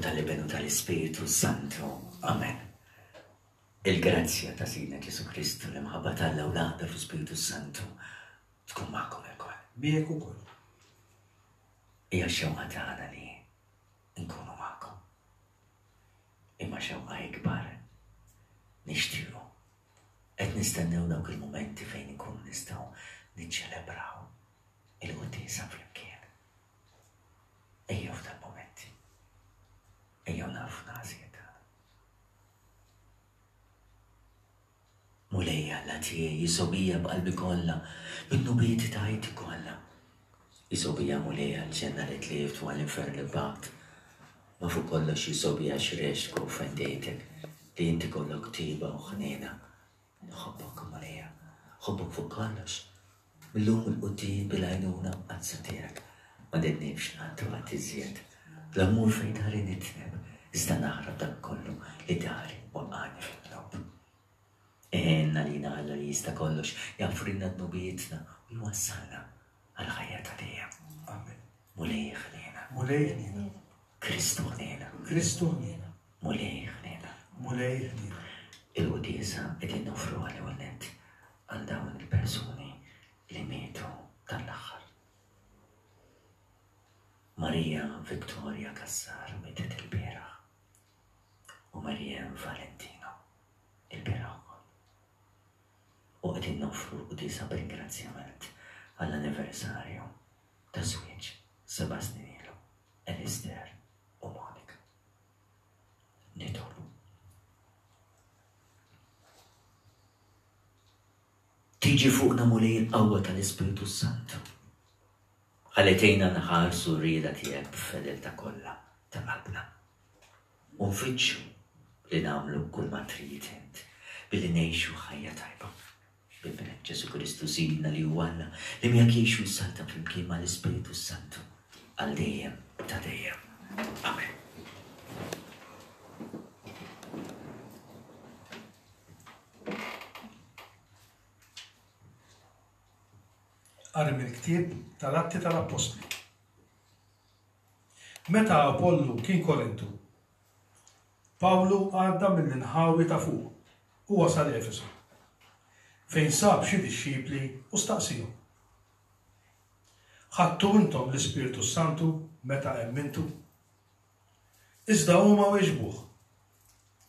tal-Iben u tal-Ispirtu Santu. Amen. Il-grazzja ta' Sidna Ġesu Kristu, l-imħabba t'Alla u l-għaqda fl-Ispirtu Santu tkun magħkom ilkoll. Miegħek ukoll. Hija xewqa tagħna li nkunu magħkom. Imma xewqa ikbar nixtiequ. Qed nistennew dawk il-mumenti fejn inkunu nistgħu niċċelebraw il-quddiesa flimkien. Ejjew f'dal mumenti. Ejjew nafu nagħżiet tagħna. Mulej Alla tiegħi, jisobija b'qalbi kollha, minn ta' ħajti kollha. Jisobija Mulej għall-ġenna li tlift u għall-infern li bgħadt. Ma fuq kollox jisobija x'rexk u offendejtek li inti kollok tiba u ħniena. Nħobbok Mulejja, nħobbok fuq kollox. Mil-lum 'il quddiem bil-għajnuna mqaddsa tiegħek ma nidnibx qatt u qatt iżjed. La mmur fejn dari nidneb, iżda naħrab dak kollu li dari waqqagħni fid-dnub. Għinna lina Alla li jista' kollox jaħfrilna dnubietna u jwassalna għall-ħajja ta' dejjem. Amen. Mulej ħniena. Mulej ħniena. Kristu ħniena. Kristu ħniena. Mulej ħniena. Mulej ħniena. Il-quddiesa qegħdin noffruha l-ewwel nett għal dawn il-persuni li mietu dan l-aħħar. Maria Victoria Cassar mietet ilbieraħ u Marianne Valentino ilbieraħ ukoll. U qegħdin noffru l-quddiesa b'ringrazzjament għall-anniversarju ta' żwieġ seba' snin ilu, Alistair u Monica. Nitolbu. Tiġi fuqna Mulej il-qawwa tal-Ispirtu s-Santu. Ħalli tgħinna nħarsu r-rieda tiegħek b'fedeltà kollha ta' qalbna. U nfittxu li nagħmlu kull ma trid int billi ngħixu ħajja tajba. B'Ibnek Ġesù Kristu Sidna li hu Alla li miegħek jgħix u jsaltan flimkien mal-Ispirtu s-Santu għal dejjem ta' dejjem. Amen. Qari mill-ktieb tal-Atti tal-Appostli. Meta Apollu kien Korintu, Pawlu għadda mill-inħawi ta' fuq u wasal Efesu, fejn sab xi dixxipli u staqsiehom, Ħadtu intom l-Ispirtu s-Santu meta emmintu? Iżda huma weġbuh,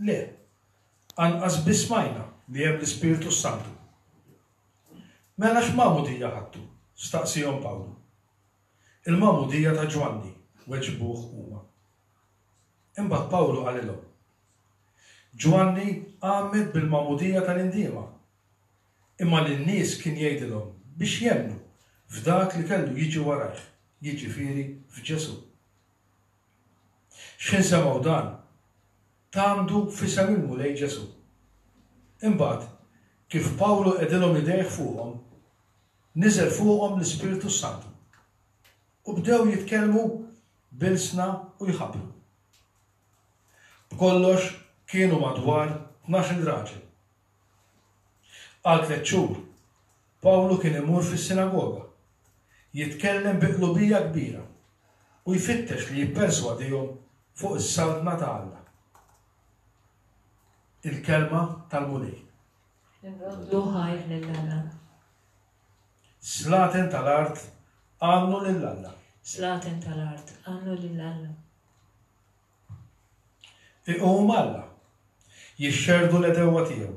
Le, anqas biss smajna li hemm l-Ispirtu s-Santu. Mela x'magħmudija ħadtu? staqsiehom Pawlu. Il-magħmudija ta' Ġwanni, weġbuh huma. Imbagħad Pawlu qalilhom, Ġwanni għammed bil-magħmudija tal-indiema, imma lin-nies kien jgħidilhom biex jemmnu f'dak li kellu jiġi warajh, jiġifieri f'Ġesù. X'ħin semgħu dan, tgħammdu f'isem il-Mulej Ġesù. Imbagħad, kif Pawlu qegħdilhom idejh fuqhom, niżel fuqhom l-Ispirtu s-Santu, u bdew jitkellmu b'ilsna u jħabbru. B'kollox kienu madwar 12-il raġel. Għal tliet xhur, Pawlu kien imur fis-sinagoga, jitkellem bi qlubija kbira u jfittex li jipperswadihom fuq is-Saltna ta' Alla. Il-Kelma tal-Mulej. Nroddu ħajr lil Alla. Slaten tal-art għannu lil Alla. Slaten tal-art għannu lil Alla. Iqum Alla, jixxerdu l-għedewwa tiegħu,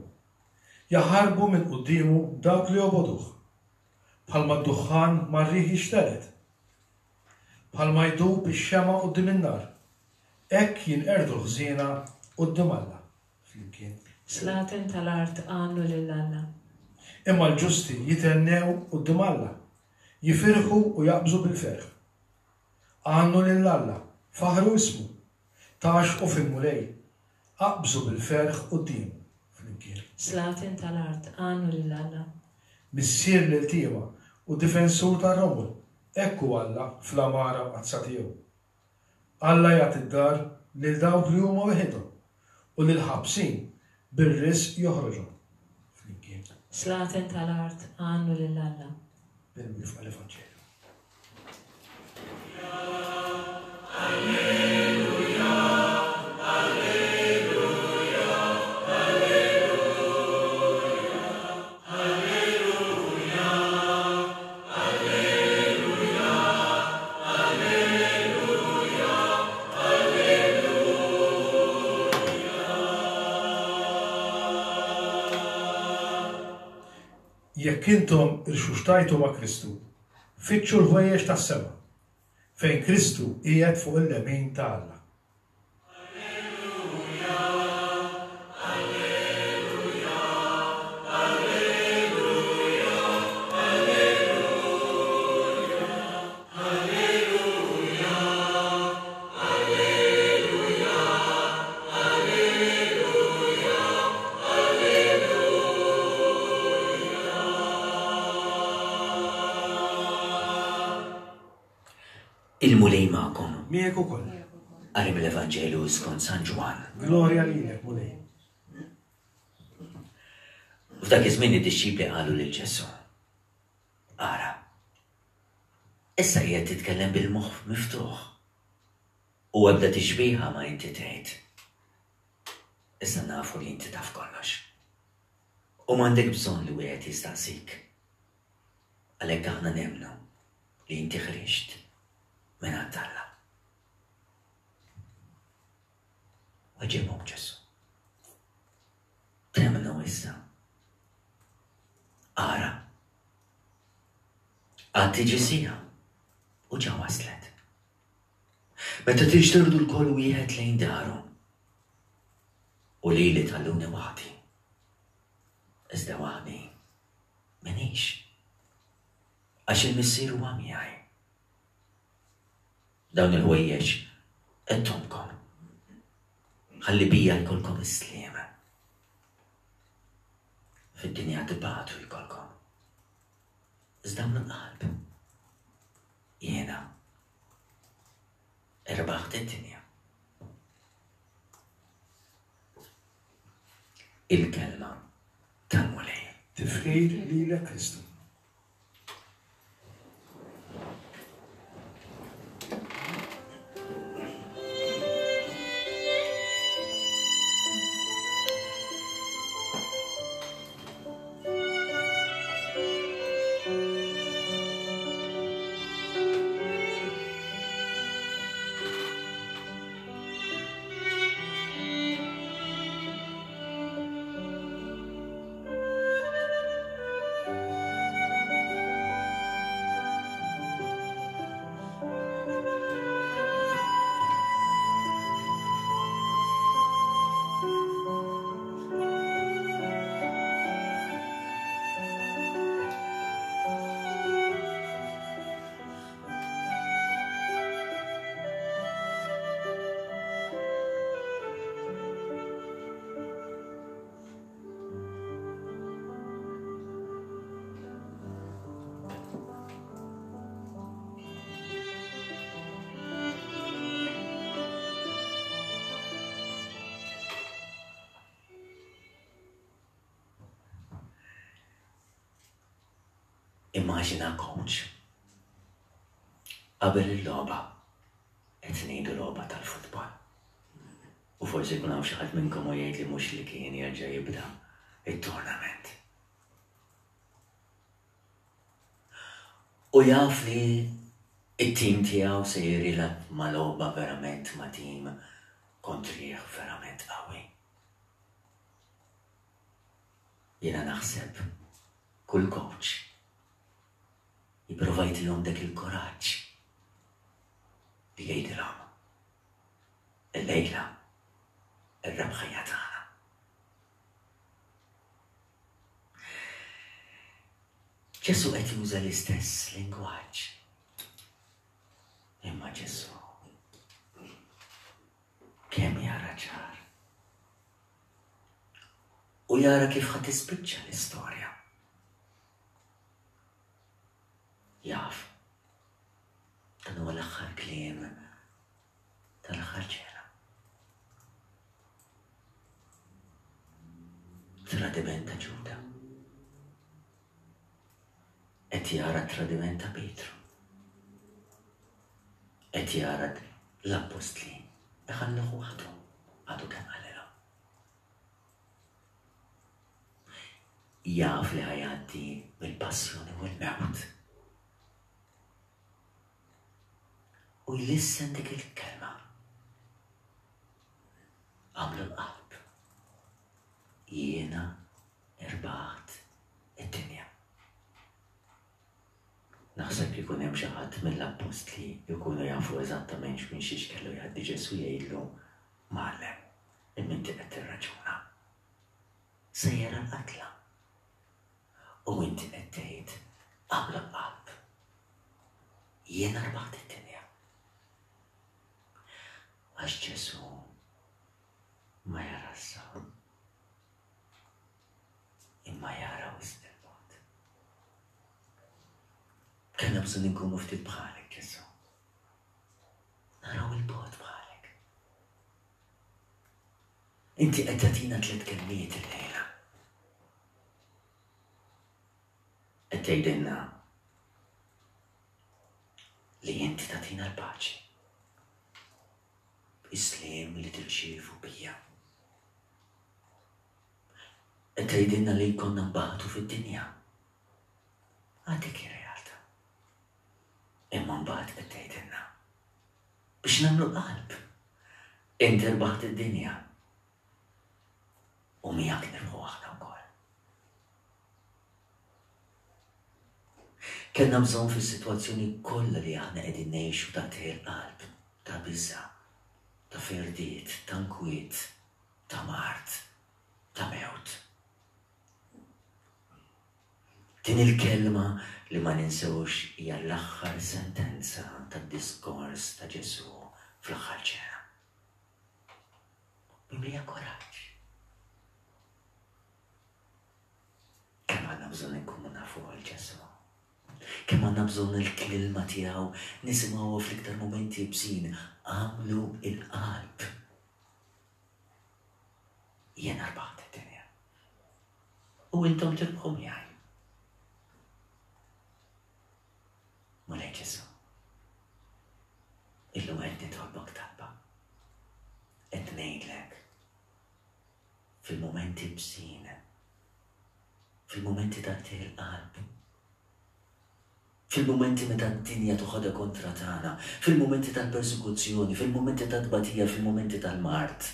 jaħarbu minn quddiemu dawk li jobogħduh, bħalma d-duħħan mar-riħ jixtered, bħalma jdub ix-xemgħa quddiem in-nar, hekk jinqerdu l-ħżiena quddiem Alla. Flimkien. Slaten tal-art għannu lil Alla. Imma l-ġusti jithennew quddiem Alla, jifirħu u jaqbżu bil-ferħ. Għannu lil Alla, faħħru ismu, tgħaxxqu fil-Mulej, aqbżu bil-ferħ quddiemu. Flimkien. Slaten tal-art għannu lil Alla. Missier l-iltiema u difensur tar-romol, hekk hu Alla fl-għamara mqaddsa tiegħu. Alla jagħti d-dar lil dawk li huma weħidhom, u lill-ħabsin bir-riżq joħroġhom. Flimkien. Slaten tal-art għannu lil Alla. Bil-wifqa l-Evanġelju. Jekk intom irxuxtajtu ma' Kristu, fittxu l-ħwejjeġ tas-sema, fejn Kristu qiegħed fuq il-lemin ta' Alla. Il-Mulej magħkom. Miegħek ukoll. Qari mill-Evanġelju skont San Ġwann. Glorja lilek, Mulej. F'dak iż-żmien id-dixxipli qalu lil Ġesù, Ara, issa qiegħed titkellem bil-moħħ miftuħ u ebda tixbiha ma inti tgħid. Issa nafu li inti taf kollox. U m'għandek bżonn li wieħed jistaqsik. Għalhekk aħna nemmnu li inti ħriġt mingħand Alla. Weġibhom Ġesù. Temmnu issa. Ara. Għad tiġi siegħa u ġa waslet. Meta tixterdu lkoll wieħed lejn daru u lili tħalluni waħdi. Iżda waħdi minix. Għax il-Missier huwa miegħi. Dawn il-ħwejjeġ għedthomkom. Ħalli bija jkollkom is-sliem. Fid-dinja tibatu jkollkom. Iżda minn qalb. Jiena irbaħt id-dinja. Il-kelma tal-Mulej. Tifħir lilek Kristu. Immaġina coach qabel il-logħba qed ngħidu logħba tal-futbol. U forsi jkun hawn xi ħadd minnkom u jgħid li mhux li kien jerġa' jibda it-tournament. U jaf li it-tim tiegħu se jirilab ma' logħba verament ma' tim kontrih verament qawwi. Jiena naħseb kull coach jipprova jtihom dak il-kuraġġ li jgħidilhom illejla ir-rebħa hija tagħna. Ġesù qed juża l-istess lingwaġġ. Imma Ġesù kemm jara ċar. U jara kif ħa tispiċċa l-istorja. Jaf. Dan huwa l-aħħar kliem tal-aħħar ċena. Tradiment ta' Ġuda. Qed jara tradiment ta' Pietru. Qed jara l-appostli iħalluh waħdu għadu kemm qalilhom. Jaf li ħajgħaddi mill-passjoni u l-mewt. U jlissen dik il-kelma. Għamlu l-qalb. Jiena irbaħt id-dinja. Ikun hemm xi ħadd mill-appostli jkunu jafu eżattament minn xiex kellu jgħaddi Ġesù jgħidlu, Mgħallem, imma inti qed tirraġuna. Sejjer għall-qatla. U inti qed tgħid, agħmlu l-qalb. Jiena rbaħt id-dinja. Għax Ġesù ma jarax sa. Imma jara wisq il-bogħod. Kellna bżonn inkunu ftit bħalek, Ġesù. Naraw il-bogħod bħalek. Inti qed tagħtina tliet kelmiet illejla. Qed tgħidilna li inti tagħtina l-paċi. Is-sliem li tirċievu bija. Qed tgħidilna li jkollna nbatu fid-dinja. Għad dik hi realtà. Imma mbagħad qed tgħidilna biex nagħmlu qalb. Inti rbaħt id-dinja. U miegħek nirbħu aħna wkoll. Kellna bżonn fis-sitwazzjoni kollha li aħna qegħdin ngħixu ta' qalb, ta' biża', ta' firdiet, ta' nkwiet, ta' mard, ta' mewt. Din il-kelma li ma ninsewx hija l-aħħar sentenza tad-diskors ta' Ġesù fl-aħħar ċena. Mimlija kuraġġ. Kemm għandna bżonn inkunu nafu għal Ġesù. Kemm għandna bżonn il-kelma tiegħu nisimgħuha fl-iktar mumenti ibsin. Agħmlu il-qalb. Jiena rbaħt id-dinja. U intom tirbħu miegħi. Mulej Ġesù. Illum qed nitolbok talba. Qed ngħidlek fil-mumenti bżin, fil-mumenti ta' il-qalb, Fil-mumenti meta d-dinja toħodha kontra tagħna, fil-mumenti tal-persekuzzjoni, fil-mumenti tat-tbatija, fil-mumenti tal-mard.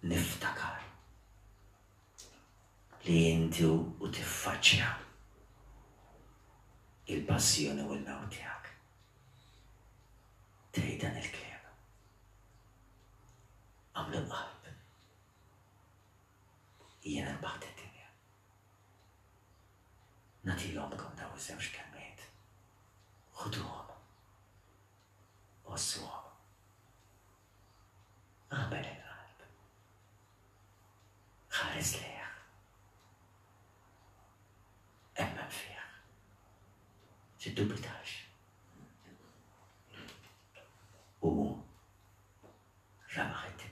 Niftakar li inti u tiffaċċja il-passjoni u l-mewt tiegħek. Tgħid dan il-kliem. Għamlu l-qalb. Jiena rbaħt id-dinja. Nagħtihomkom dawn iż-żewġ kelmiet. Ħuduhom. Għożżuhom. Agħmel il-qalb. Ħares lejh. Emmen fih. Tiddubitax. U rebaħ id-dinja.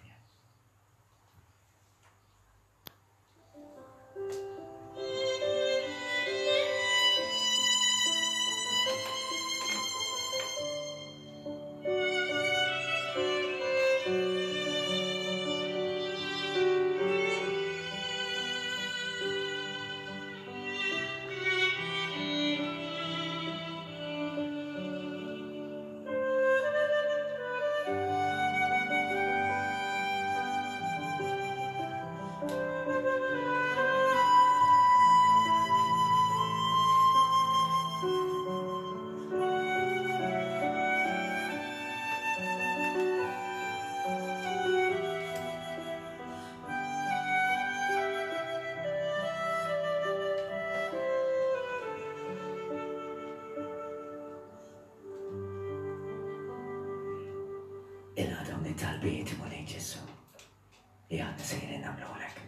Ilqa' dawn it-talbiet, Mulej Ġesù, li aħna sejrin nagħmluhulek.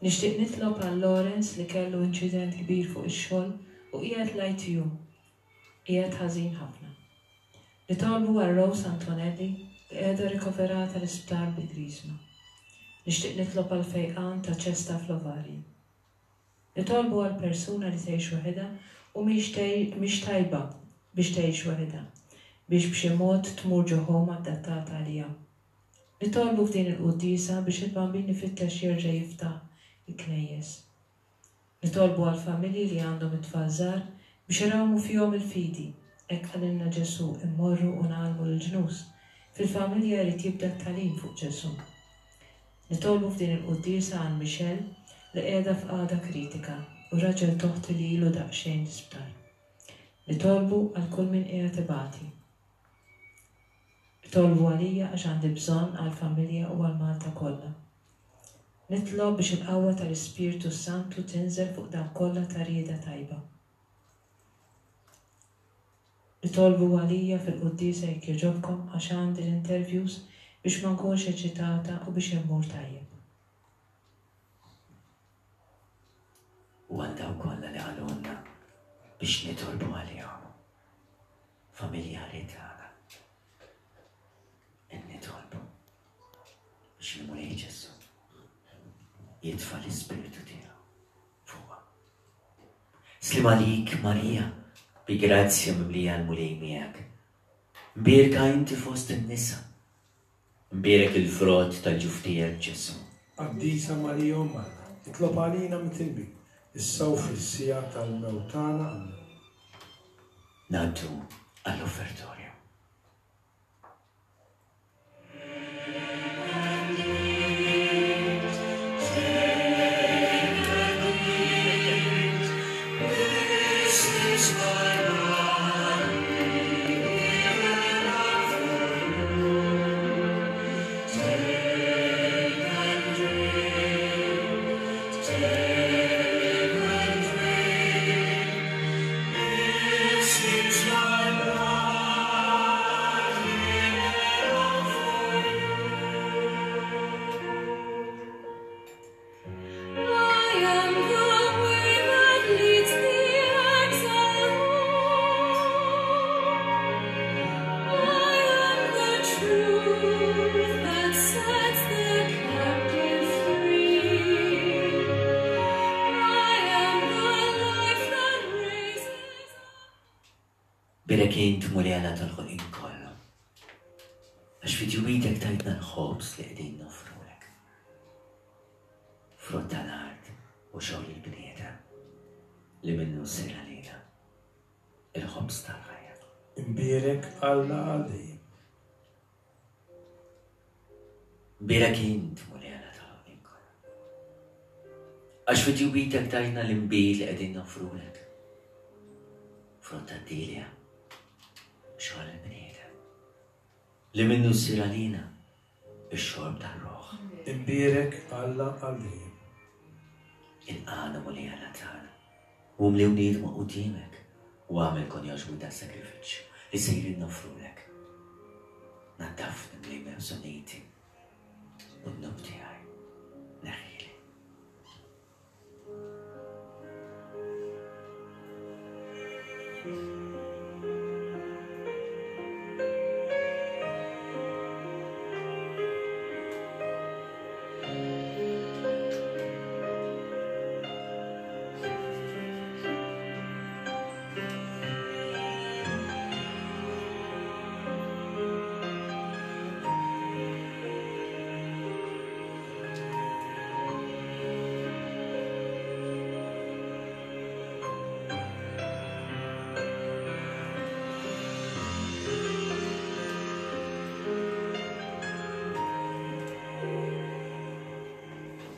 Nixtieq nitlob għal Lawrence li kellu inċident kbir fuq ix-xogħol u qiegħed l-ITU. Qiegħed ħażin ħafna. Nitolbu għal Rose Antonelli li qiegħda rikoverata l-isptar bi griżma. Nixtieq nitlob għal fejqan ta' ċesta fl-ovarji. Nitolbu għal persuna li tgħix waħedha u mhix tajba biex tgħix waħedha, biex b'xi mod tmur ġo home adattata għaliha. Nitolbu f'din il-quddiesa biex il-Bambin ifittex jerġa' jiftaħ il-knejjes. Nitolbu għall-familji li għandhom it-tfal żgħar biex irawmu fihom il-fidi, hekk qalilna Ġesù immorru u ngħallmu lill-ġnus. Fil-familja jrid jibda t-tagħlim fuq Ġesù. Nitolbu f'din il-quddiesa għal Michelle. li qiegħda f'qagħda kritika u raġel t'oħti li ilu daqsxejn l-isptar. Nitolbu għal kull min qiegħed ibati. Itolbu għalija għax għandi bżonn għall-familja u għal Malta kollha. Nitlob biex il-qawwa tal-Ispirtu s-Santu tinżel fuq dawk kollha ta' rieda tajba. Itolbu għalija fil-quddiesa jekk jogħġobkom għax għandi l-interviews biex ma nkunx eċitata u biex immur tajjeb. U għal dawk kollha li qalulna biex nitolbu għalihom, familjari tagħna. Nitolbu biex il-Mulej Ġesù jitfa' l-Ispirtu tiegħu fuqhom. Sliem għalik Marija, bi grazzja mimlija l-Mulej miegħek. Mbierka inti fost in-nisa Mbierek il-frott tal-ġuf tiegħek, Ġesù. Qaddisa Marija Omm Alla, itlob għalina mitilbin, issa u fis-siegħa tal-mewt tagħna. Ammen. Ngħaddu għall-offertorju. Birek int Mulej Alla tal-ħolqien kollu. Għax fi ġwidek tajtna l-ħobż li qegħdin noffrulek. Frott tal-art u xogħol il-bniedem li minnu ssir għalina il-ħobż tal-ħajja. Imbierek Alla għal dejjem. Imbierek int, Mulej Alla tal-ħolqien kollu. Għax fi tjubitek tajtna l-inbid li qegħdin noffrulek. Frott tad-dilja, xogħol il-bniedem. Li minnu ssir għalina ix-xorb tar-ruħ. Imbierek Alla għal dejjem. Ilqagħna Mulej Alla tagħna, u mliwni idma quddiemek, u agħmel kon jogħġbuk das-sagrifiċċju li sejrin noffrulek. Naddafni Mulej minn bżonnijti, u d-dnub tiegħi neħħili.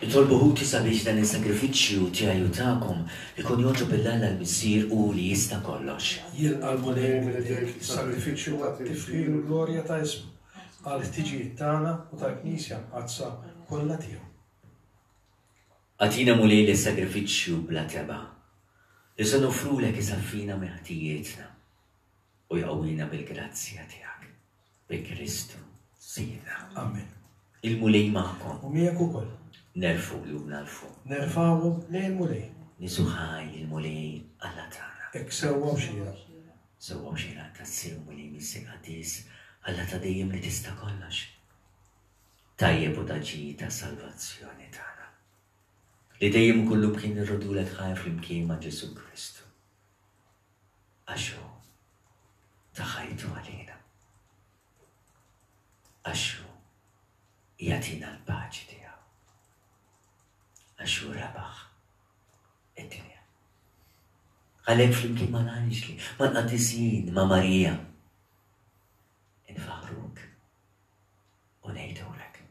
Nitolbu ħuti sabiex dan is-sagrifiċċju tiegħi u tagħkom ikun jogħġob lil Alla l-Missier hu li jista' kollox. Jilqa' l-Mulej minn idejk is-sagrifiċċju għat-tifħir u l-glorja ta' ismu, għall-ħtiġijiet tagħna u tal-Knisja Mqaddsa kollha tiegħu. Agħtina Mulej li s-sagrifiċċju bla tebgħa li se noffrulek isaffina minn ħtijietna u jqawwina bil-grazzja tiegħek. Bi Kristu Sidna. Amen. Il-Mulej magħkom. U miegħek ukoll. Nerfgħu qlubna 'l fuq. Nerfgħuhom lejn il-Mulej. Nisu ħaj lill-Mulej Alla tagħna. Hekk sewwa u xieraq. Sewwa u xieraq tassew Mulej Missier qaddis, Alla ta' dejjem li tista' kollox. Tajjeb u ta' ġid għas-salvazzjoni tagħna. Li dejjem u kullumkien nirrodulek ħajr flimkien ma' Ġesù Kristu. Għax hu ta ħajtu għalina. Għax hu jagħtina l-paċi tiegħu. Għax hu rebaħ id-dinja. Għalhekk flimkien mal-anġli, mal-qaddisin, ma' Marija, infaħruk u ngħidulek.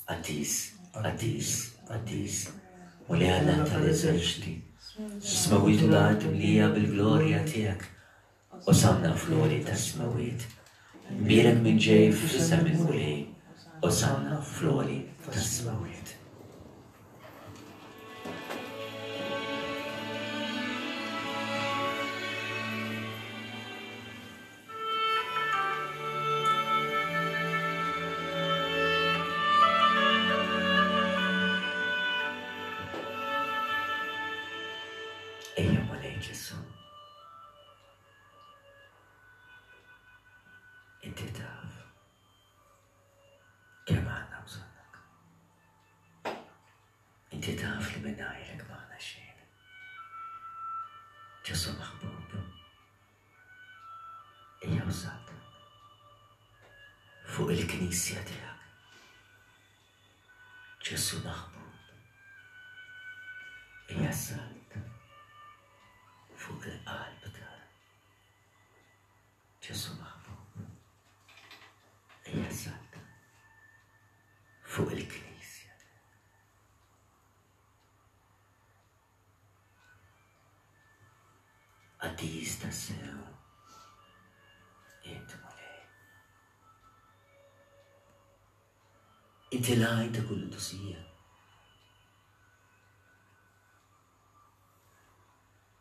Qaddis, qaddis, qaddis, Mulej Alla tal-eżerċti, is-smewwiet u l-art mlija bil-glorja tiegħek. Osanna fl-għoli tas-smewwiet. Mbierek min ġej f'isem il-Mulej. Osanna fl-għoli tas-smewwiet. Ejja Mulej Ġesù. Inti taf kemm għandna bżonnek. Inti taf li mingħajrek m'aħna xejn. Ġesù maħbub. Ejja u saltan fuq il-knisja tiegħek. Ġesù maħbub. Ejja saltan fuq il-qalb tagħna. Ġesù maħbub. Ejja saltan fuq il-knisja tiegħek. Qaddis tassew, int Mulej. Inti l-għajn ta' kull qdusija.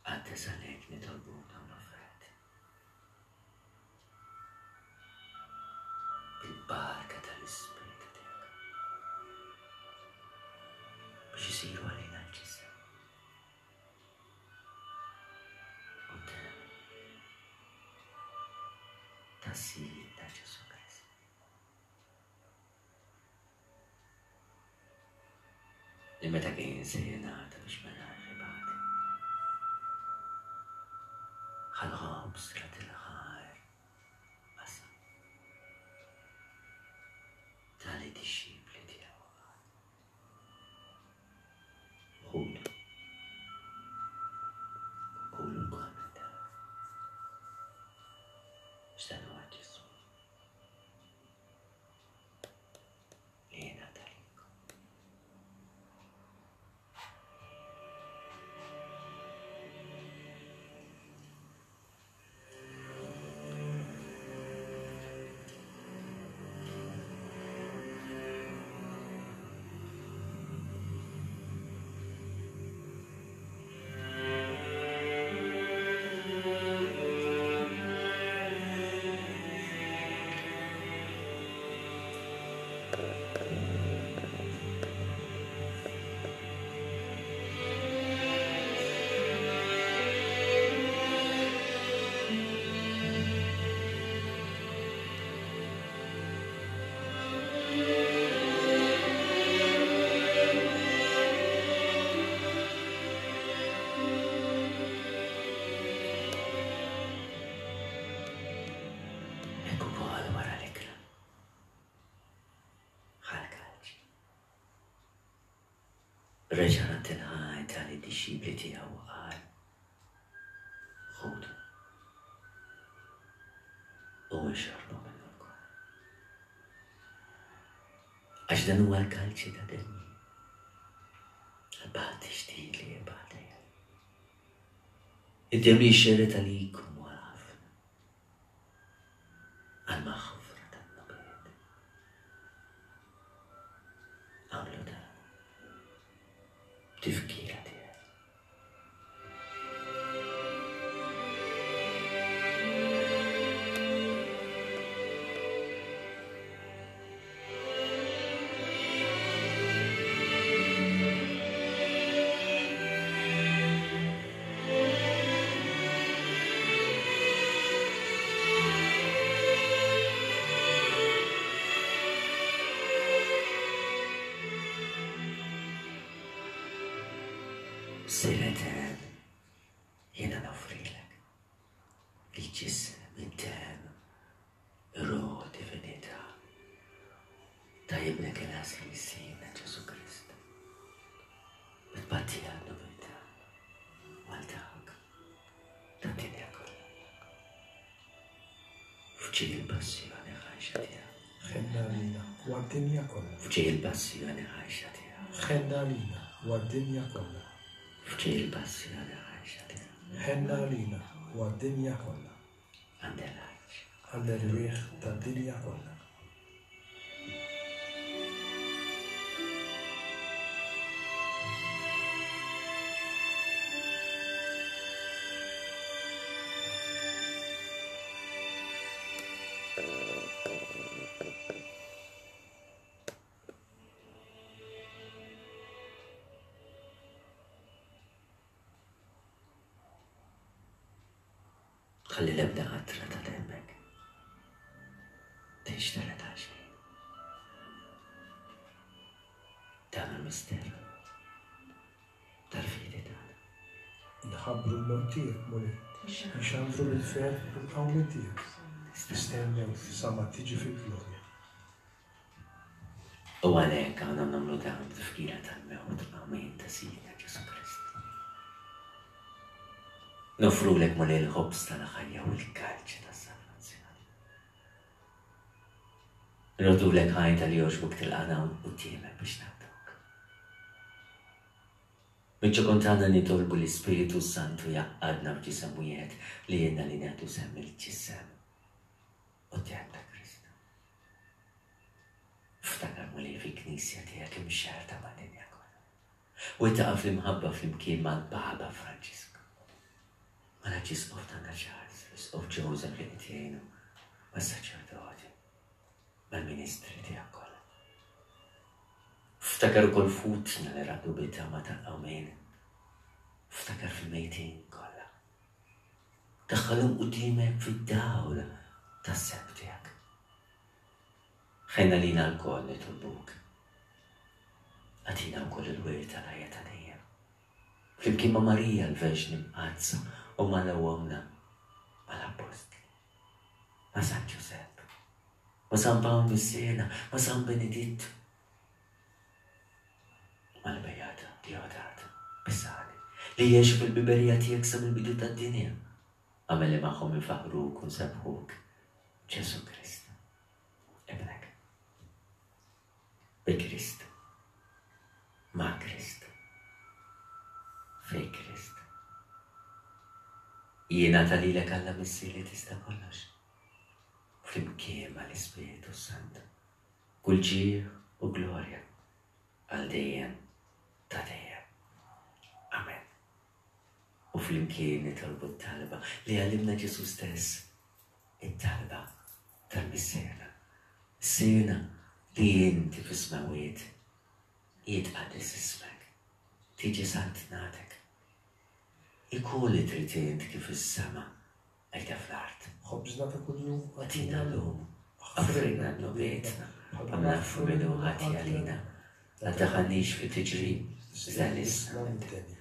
Għaddes għalek nitolbu dawn l-offerti. Bil-barka tal-Ispirtu tiegħek. Biex isiru għalina l-ġisem. U d-demm ta' Sidna Ġesù Kristu. Li meta kien se jingħata biex mela ribati. Ħal-ħobż rat il-ħar qasam. Tali dixxipli tiegħu qal. Ħudu. Kulu lkoll minn dan. X'dan huwa Ġesù. Li jingħata lilkom. Hekk ukoll wara l-ikla. Ħa l-kalċi. Reġa' radd il-ħajt għal id-dixxipli tiegħu u qal, Ħudu u ixorbu minnu lkoll. Għax dan huwa l-kalċi ta' demmi. Għal-patt ġdid li jibgħat Id-demm li jxerred għalikom u għal ħafna. Għall-maħfra tad-dnubiet. Agħmlu dan b'tifkira tiegħi. Sir Etern, jiena noffrilek il-ġisem, id-demm, ir-ruħ u d-divinità ta' Ibnek il-għażiż Sidna Ġesù Kristu. Bi tpattija għad-dnubiet tagħna u għal dawk tad-dinja kollha. F'ġieħ il-passjoni ħajxa tiegħu. Ħenna għalina u għad-dinja kollha. F'ġieħ il-passjoni ħajxa tiegħu. Ħenna għalina. u għad-dinja kollha. F'ġej il-passjoni ħajxa tiegħek. Ħenna għalina u għad-dinja kollha. Għandelaġ. Għall-erwieħ tad-dinja kollha. Tħalli l-ebda qatra ta' demmek. Tinxtered għal xejn. Dan il-misteru tal-fidi tagħna. Inħabbru l-mewt tiegħek, Mulej, inxandru bil-ferħ il-qawmien tiegħek. Nistennew sa ma tiġi fil-glorja. U għalhekk għandna nagħmlu dan b'tifkira tal-mewt u l-qawmien ta' Sidna Ġesù Kristu. Noffrulek Mulej il-ħobż tal-ħajja u l-kalċi tas-salvazzjoni. Nrodulek ħajta li jogħġbok tilqagħna quddiemek biex naqduk. Miċ-ċokon tagħna nitolbu l-Ispirtu s-Santu jgħaqqadna f'ġisem wieħed li jgħinna li nagħtu sehem mill-ġisem u d-demm ta' Kristu. Ftakar Mulej fil-Knisja tiegħek imxerrda mad-dinja kollha. Wettaqha fl-imħabba flimkien mal-Papa Franġisku, mal-Arċisqof tagħna Charles, l-Isqof Joseph li qed jgħinu, mas-saċerdoti, mal-ministri tiegħek kollha. Ftakar ukoll f'ħutna li raqdu bit-tama tal-qawmien. Ftakar fil-mejtin kollha. Daħħalhom quddiemek fid-dawl tas-sebħ tiegħek. Ħenna lina lkoll nitolbuk. Agħtina wkoll il-wirt tal-ħajja ta' dejjem. Flimkien ma' Marija l-Verġni Mqaddsa u ma' Ommna, mal-Appostli, ma' San Ġużepp, ma' San Pawl Missierna, ma' San Benedittu, mal-Beata Deodata Pisani, li għexu fil-biberija tiegħek sa mill-bidu tad-dinja. Agħmel li magħhom infaħħruk u nsebbħuk, Ġesù Kristu, Ibnek. Bi Kristu, ma' Kristu, fi Kristu. Jingħata lilek Alla Missier li tista' kollox, flimkien mal-Ispirtu s-Santu, kull ġieħ u glorja għal dejjem ta' dejjem. Amen. U flimkien nitolbu t-talba li għallimna Ġesù stess, it-talba tal-Missierna. Missierna li inti fis-smewwiet, jitqaddes ismek, tiġi saltnatek. Ikun li trid int kif fis-sema hekk fl-art. Ħobżna ta' kuljum agħtina llum. Aħfrilna dnubietna, bħalma naħfru min hu ħati għalina. La tdaħħalniex fi tiġrib, iżda eħlisna mid-deni.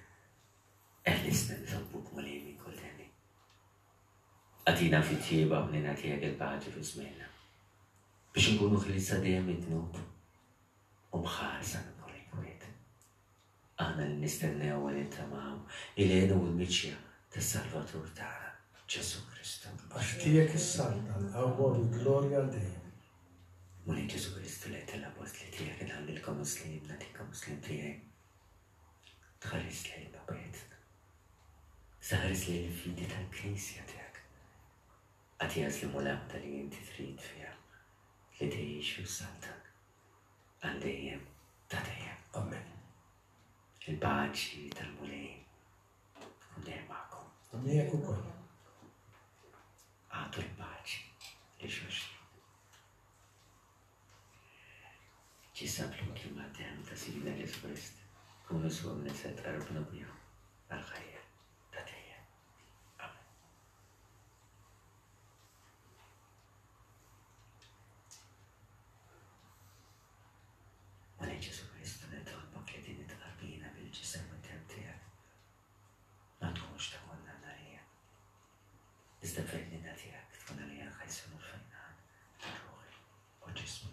Eħlisna nitolbuk Mulej minn kull deni. Agħtina fit-tjieba u ħniena tiegħek il-paċi fi żmienna, biex inkunu ħliesa dejjem mid-dnub u mħarsa minn kull inkwiet. Aħna li nistennew u nittamaw il-għenu u l-miġja tas-Salvatur tagħna, Ġesù Kristu. Għax tiegħek is-saltna, l-qawwa u l-glorja għal dejjem. Mulej Ġesù Kristu li għedt lill-appostli tiegħek inħallilkom is-sliem, nagħtikom is-sliem tiegħi. Tħares lejn dnubietna. Iżda ħares lejn il-fidi tal-Knisja tiegħek. Agħtiha sliem u l-għaqda li inti trid fiha li tgħix u ssaltan għal dejjem ta' dejjem. Amen. Il-paċi tal-Mulej tkun dejjem magħkom. U miegħek ukoll. Agħtu l-paċi lil xulxin. Ġisem flimkien mad-demm ta' Sidna Ġesù Kristu, kunu żgur li se tqarbnu bihom għall-ħajja ta' dejjem. Amen. Mulej Ġesù Kristu, nitolbok li din it-tqarbina bil-ġisem u d-demm tiegħek ma tkunx ta' kundanna għalija. Iżda b'fednina tiegħek tkun għalija ħajsun u fejqan ta' ruħi u ġismi.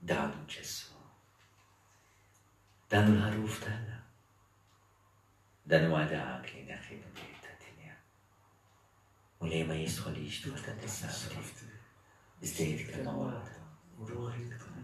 Dan hu Ġesù. Dan hu l-ħaruf t'Alla. Dan huwa dak li jneħħi dnubiet tad-dinja. U li ma jistħolix dwar ta' tisabti. Iżda jgħid kelma waħda u ruħi tkun.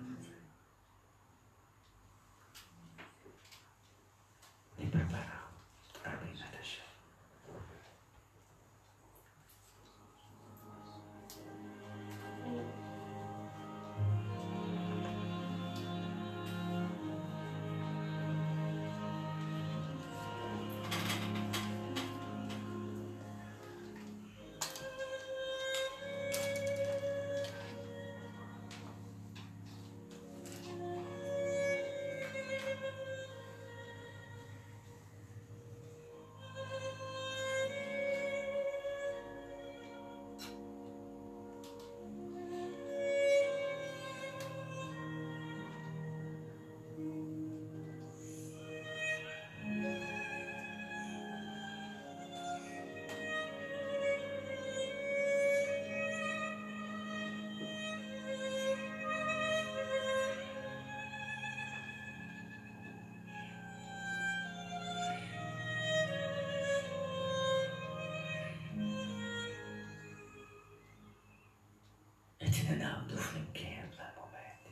Qed ningħaqdu flimkien f'dal-mument.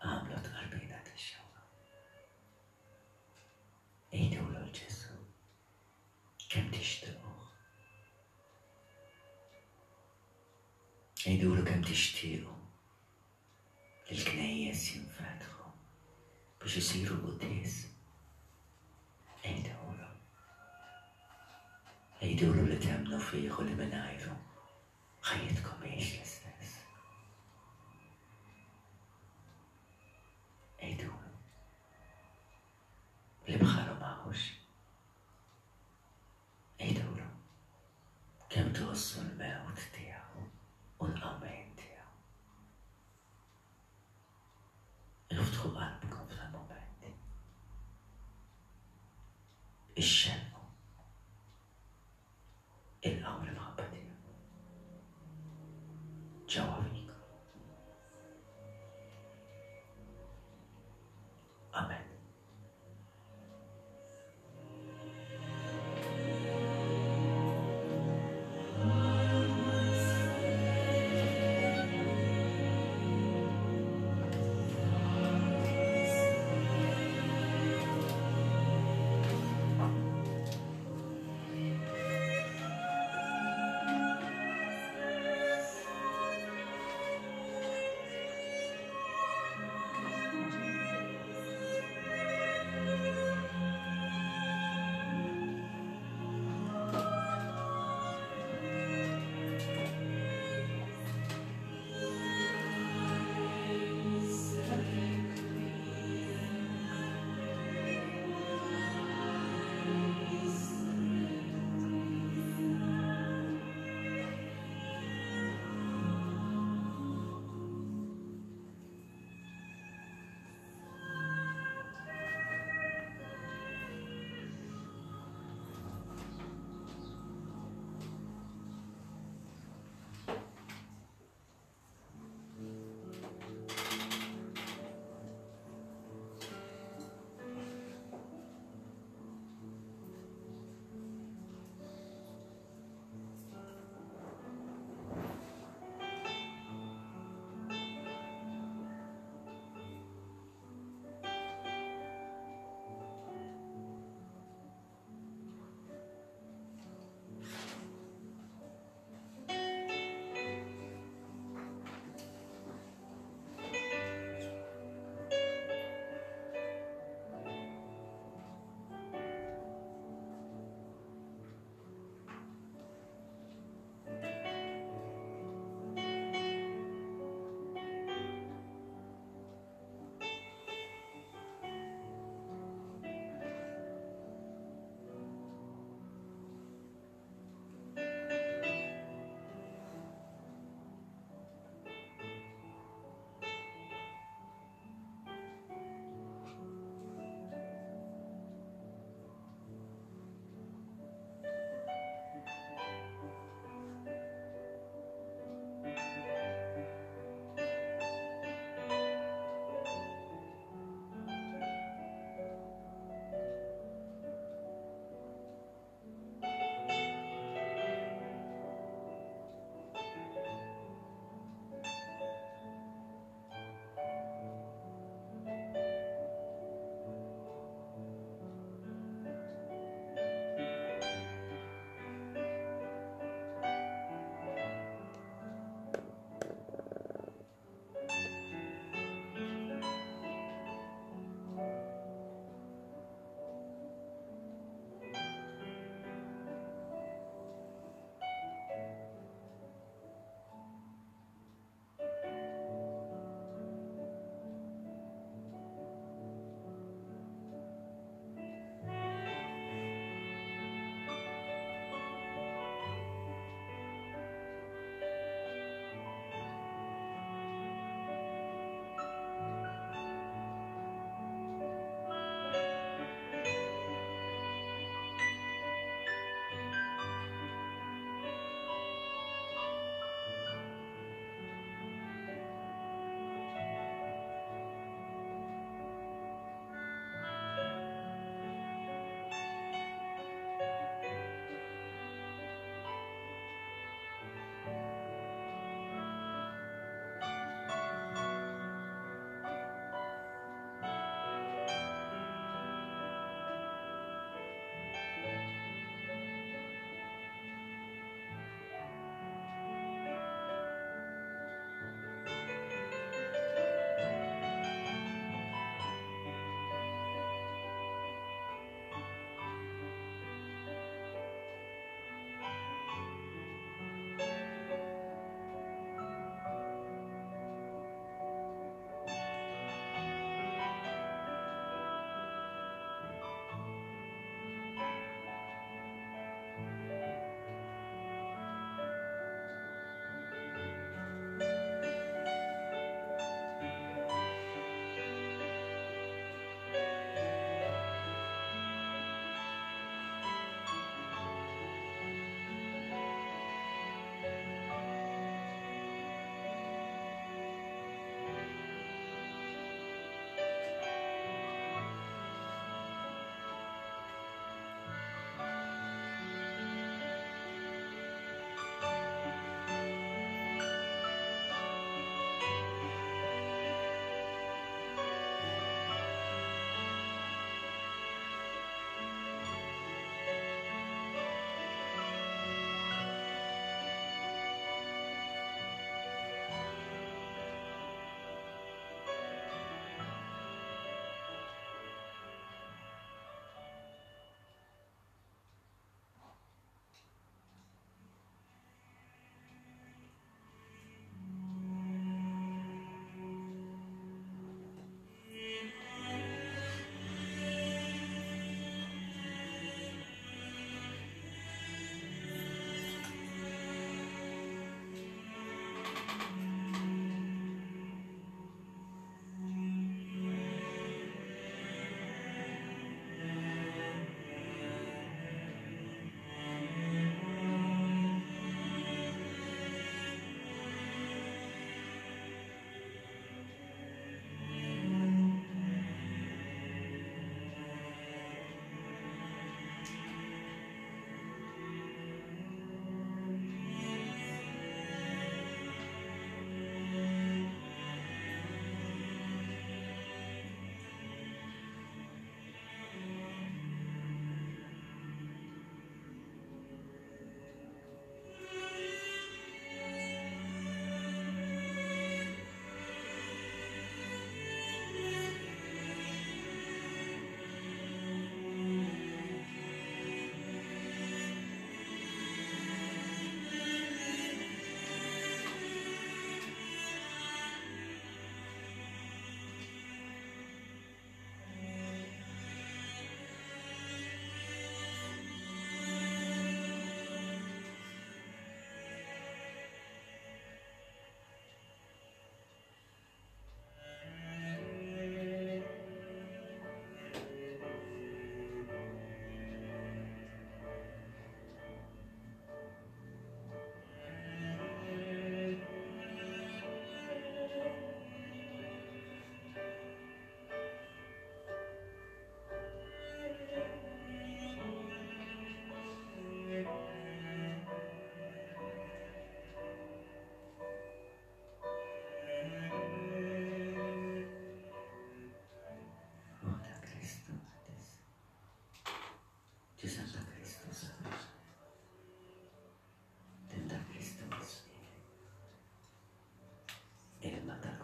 Agħmlu t-tqarbina tax-xewqa. Għidulu 'l Ġesù kemm tixtiquh. Għidulu kemm tixtiequ li l-knejjes jinfetħu biex isiru quddies. Għidulu. Għidulu li temmnu fih u li mingħajru ħajjitkom mhijiex l-istess. Għidulu li bħalu m'hawnx. Għidulu kemm tgħożżu l-mewt tiegħu u l-qawmien tiegħu. Iftħu qalbkom f'dal-mument. Ixxennqu. Ilqgħu l-imħabba tiegħu. Ġewwa fikom. Amen.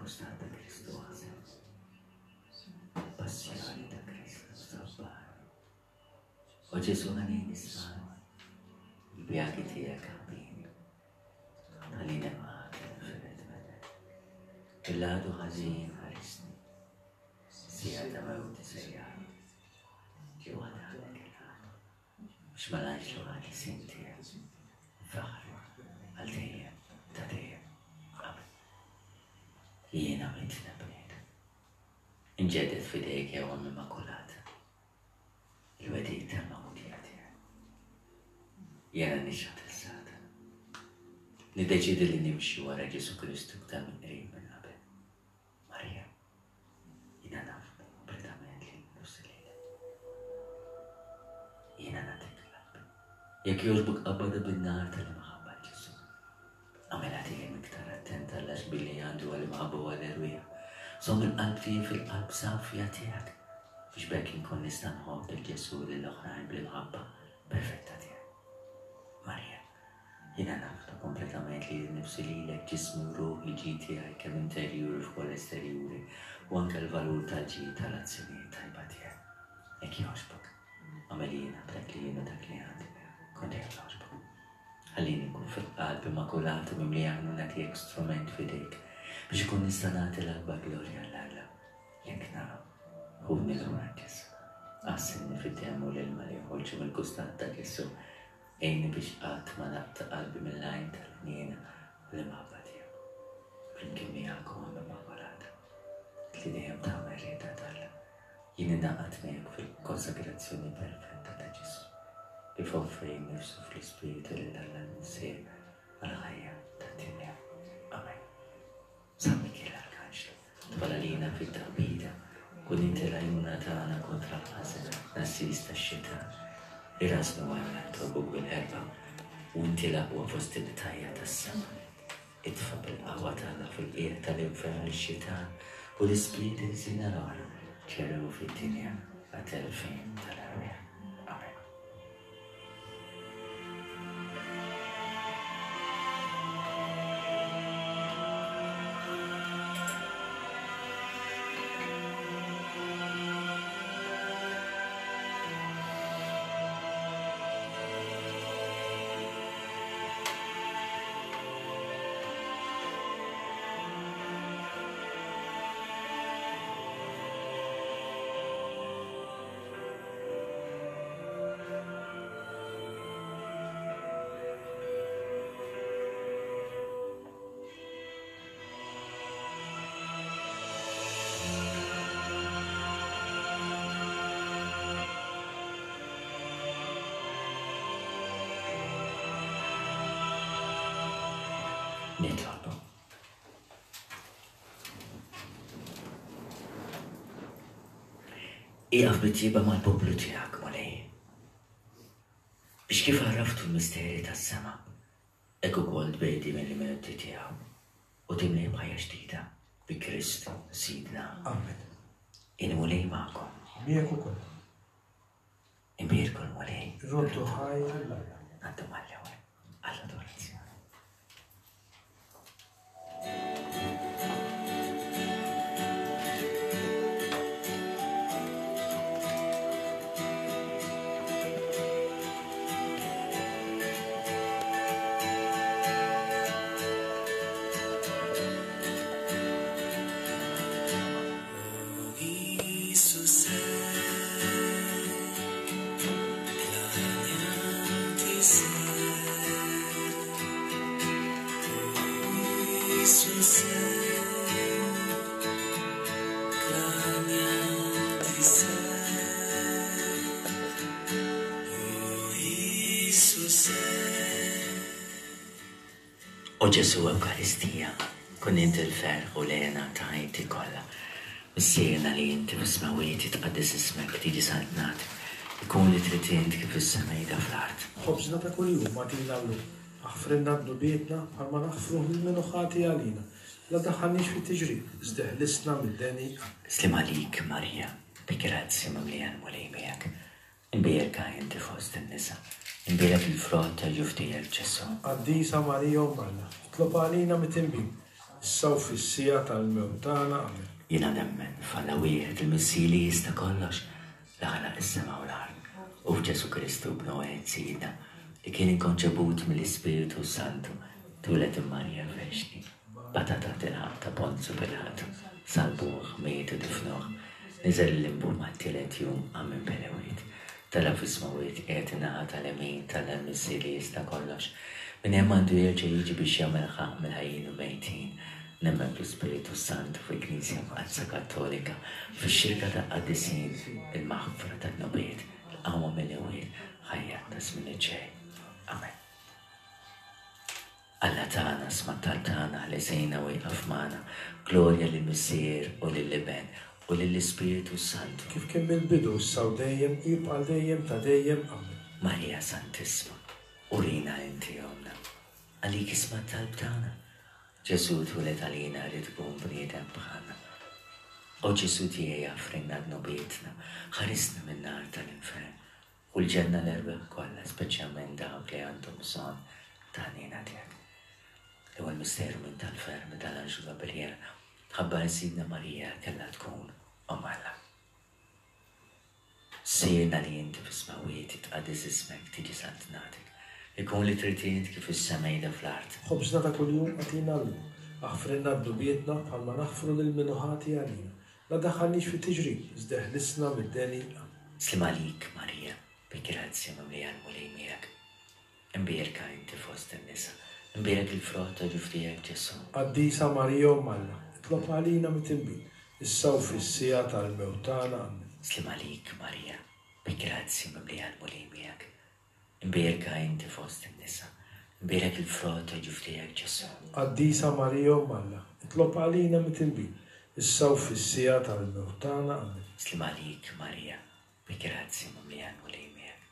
Mill-kostat ta' Kristu għażel. Passjoni ta' Kristu sabbar. O Ġesu ħanin isma' il-pjagi tiegħek ħabbini. Ħallini nibqa' nfired minnek. Il-għadu ħażin ħarisni. Sija ta' mewti sejjaħ. Ġewwa għandek il-ħadd. Biex mal-anġlu ħarisin tiegħek. Faħru għal dejjem ta' dejjem. Amen. Jiena mitna bniedem. Inġedded f'idejk ja Omm Immakulata il-wegħdiet tal-magħmudija tiegħi. Jiena nixħet lil Satana. Niddeċiedi li nimxi wara Ġesù Kristu iktar mill-qrib minn qabel. Marija, jiena naf kompletament li nifsi lilek. Jiena nagħtik qalbi. Jekk jogħġbok qabbadha bin-nar tal-imħabba Ġesù. Agħmilha dejjem iktar attent għall-għaxbi li għandu għall-imħabba u għall-erwieħ. Żomm il-qalb tiegħi fil-qalb safja tiegħek, biex b'hekk inkun nista' nħobb lil Ġesù u lill-oħrajn bl-imħabba perfetta tiegħek. Marija, jiena nafda kompletament lili nnifsi lilek, ġismi u ruħi, ġid tiegħi kemm interjuri u wkoll esterjuri, u anke l-valur tal-ġid tal-azzjonijiet tajba tiegħi. Jekk jogħġbok, agħmel jiena b'dak li jien u dak li għandi, kont dejjem nogħġbok. Ħallini nkun fil-qalb immakulata mimlija ħnuna tiegħek strument f'idejk biex ikun nista' nagħti l-akbar glorja 'l Alla. Jekk naqa', ħudni lura Ġesù. Għassilni fid-demm u l-ilma li joħorġu mill-kustat ta' Ġesù. Għinni biex qatt ma naqta' qalbi mill-għajn tal-ħniena u l-imħabba tiegħu. Flimkien miegħek o Omm Immakulata, li dejjem tagħmel rieda t'Alla. Jien ingħaqadt miegħek fil-konsagrazzjoni perfetta ta' Ġesù, kif offra nnifsu fl-Ispirtu lil Alla l-Missier għall-ħajja tad-dinja. Amen. San Mikiel Arkanġlu, dħol għalina fit-taqbida, kun inti l-għajnuna tagħna kontra l-ħażen l-għassies tax-xitan. Irażżnu Alla nitolbuk bil-ħerba, u inti l-aqwa fost il-qtajja' tas-sema. Itfa' bil-qawwa t'Alla fil-qiegħ tal-infern lix-xitan u l-ispirti ħżiena l-oħra ġerew fid-dinja għat-telfien tal-erwieħ. Amen. Nitolbu. Ieqaf bit-tjieba mal-poplu tiegħek, Mulej. Biex kif għarraftu l-misteri tas-sema, hekk ukoll tbegħdi mill-imewti tiegħu u timlih b'ħajja ġdida bi Kristu Sidna. Amen. Il-Mulej magħkom. Miegħek ukoll. Imbierku l-Mulej. Irroddu ħajr lil Alla. Ngħaddu mal-ewwel għall-adorazzjoni. O Ġesù Ewkaristija, kun int il-ferħ u l-hena ta' ħajti kollha. Missierna li inti fis-smewwiet jitqaddes ismek, tiġi saltnatek, ikun li trid int kif fis-sema jidha fl-art. Ħobżna ta' kuljum agħtina llum. Aħfrilna dnubietna bħalma naħfru lil min hu ħati għalina. La ddaħħalniex fit-tiġrib, iżda eħlisna mid-deni. Amen. Sliem għalik, Marija, bi grazzja mimlija l-Mulej miegħek. Imbierka inti fost in-nisa, imbierek il-frott tal-ġuf tiegħek, Ġesù. Qaddisa Marija Omm Alla, itlob għalina mitinbin, Issa u fis-siegħa tal-mewt tagħna. Amen. Jiena nemmen f'Alla wieħed, il-Missier li jista' kollox, li ħalaq is-sema u l-art, u f'Ġesù Kristu Ibnu wieħed Sidna, li kien inkonċebut mill-Ispirtu s-Santu, twieled minn Marija Verġni, bata taħt il-ħaqq ta' Ponzu Pilatu, salbuh, miet u difnuh, niżel il-limbu mat-tielet jum qam minn bejn l-imwiet, Tela' fis-smewwiet, qiegħed in-naħa tal-lemin t'Alla l-Missier li jista' kollox. Minn hemm għandu jerġa' jiġi biex jagħmel ħaqq mill-ħajjin u l-mejtin. Nemmen fl-Ispirtu s-Santu, fil-Knisja Mqaddsa Kattolika, fix-xirka tal-qaddisin, il-maħfra tad-dnubiet, il-qawma mill-imwiet, ħajja ta' żmien li ġej. Amen. Alla tagħna, sma' t-talb tagħna, ħlesina u ieqaf magħna. Glorja lill-Missier u lill-Iben u lill-Ispirtu s-Santu. Kif kien mill-bidu, issa u dejjem, u jibqa' għal dejjem ta' dejjem. Amen. Marija Santissma, urina inti Ommna. Għalik isma' t-talb tagħna. Ġesù twieled għalina ried ikun bniedem bħalna. O Ġesù tiegħi aħfrilna dnubietna, ħarisna min-nar tal-infern. U l-ġenna l-erwieħ kollha, speċjalment dawk li għandhom bżonn ta' ħniena tiegħek. L-ewwel misteru minn tal-ferħ meta l-anġlu Gabriel ħabbar li Sidna Marija kellha tkun Omm Alla. Missierna li inti fis-smewwiet, jitqaddes ismek, tiġi saltnatek. Ikun li trid int kif fis-sema jidher fl-art. Ħobżna ta' kuljum agħtina llum. Aħfrilna dnubietna bħalma naħfru lil min hu ħati għalina. La daħħalniex fi tiġrib, iżda eħlisna mid-deni. Amen. Sliem għalik, Marija, bi grazzja mimlija l-Mulej miegħek. Imbierka inti fost in-nisa, imbierek il-frott ta' ġuf tiegħek, Ġesù. Qaddisa Marija Omm Alla, itlob għalina mitinbin, issa u fis-siegħa tal-mewt tagħna. Amen. Sliem għalik, Marija, bi grazzja mimlija l-Mulej miegħek. Imbierka inti fost in-nisa, imbierek il-frott ta' ġuf tiegħek, Ġesù. Qaddisa Marija Omm Alla, itlob għalina mitinbin, issa u fis-siegħa tal-mewt tagħna. Amen. Sliem għalik, Marija, bi grazzja mimlija l-Mulej miegħek.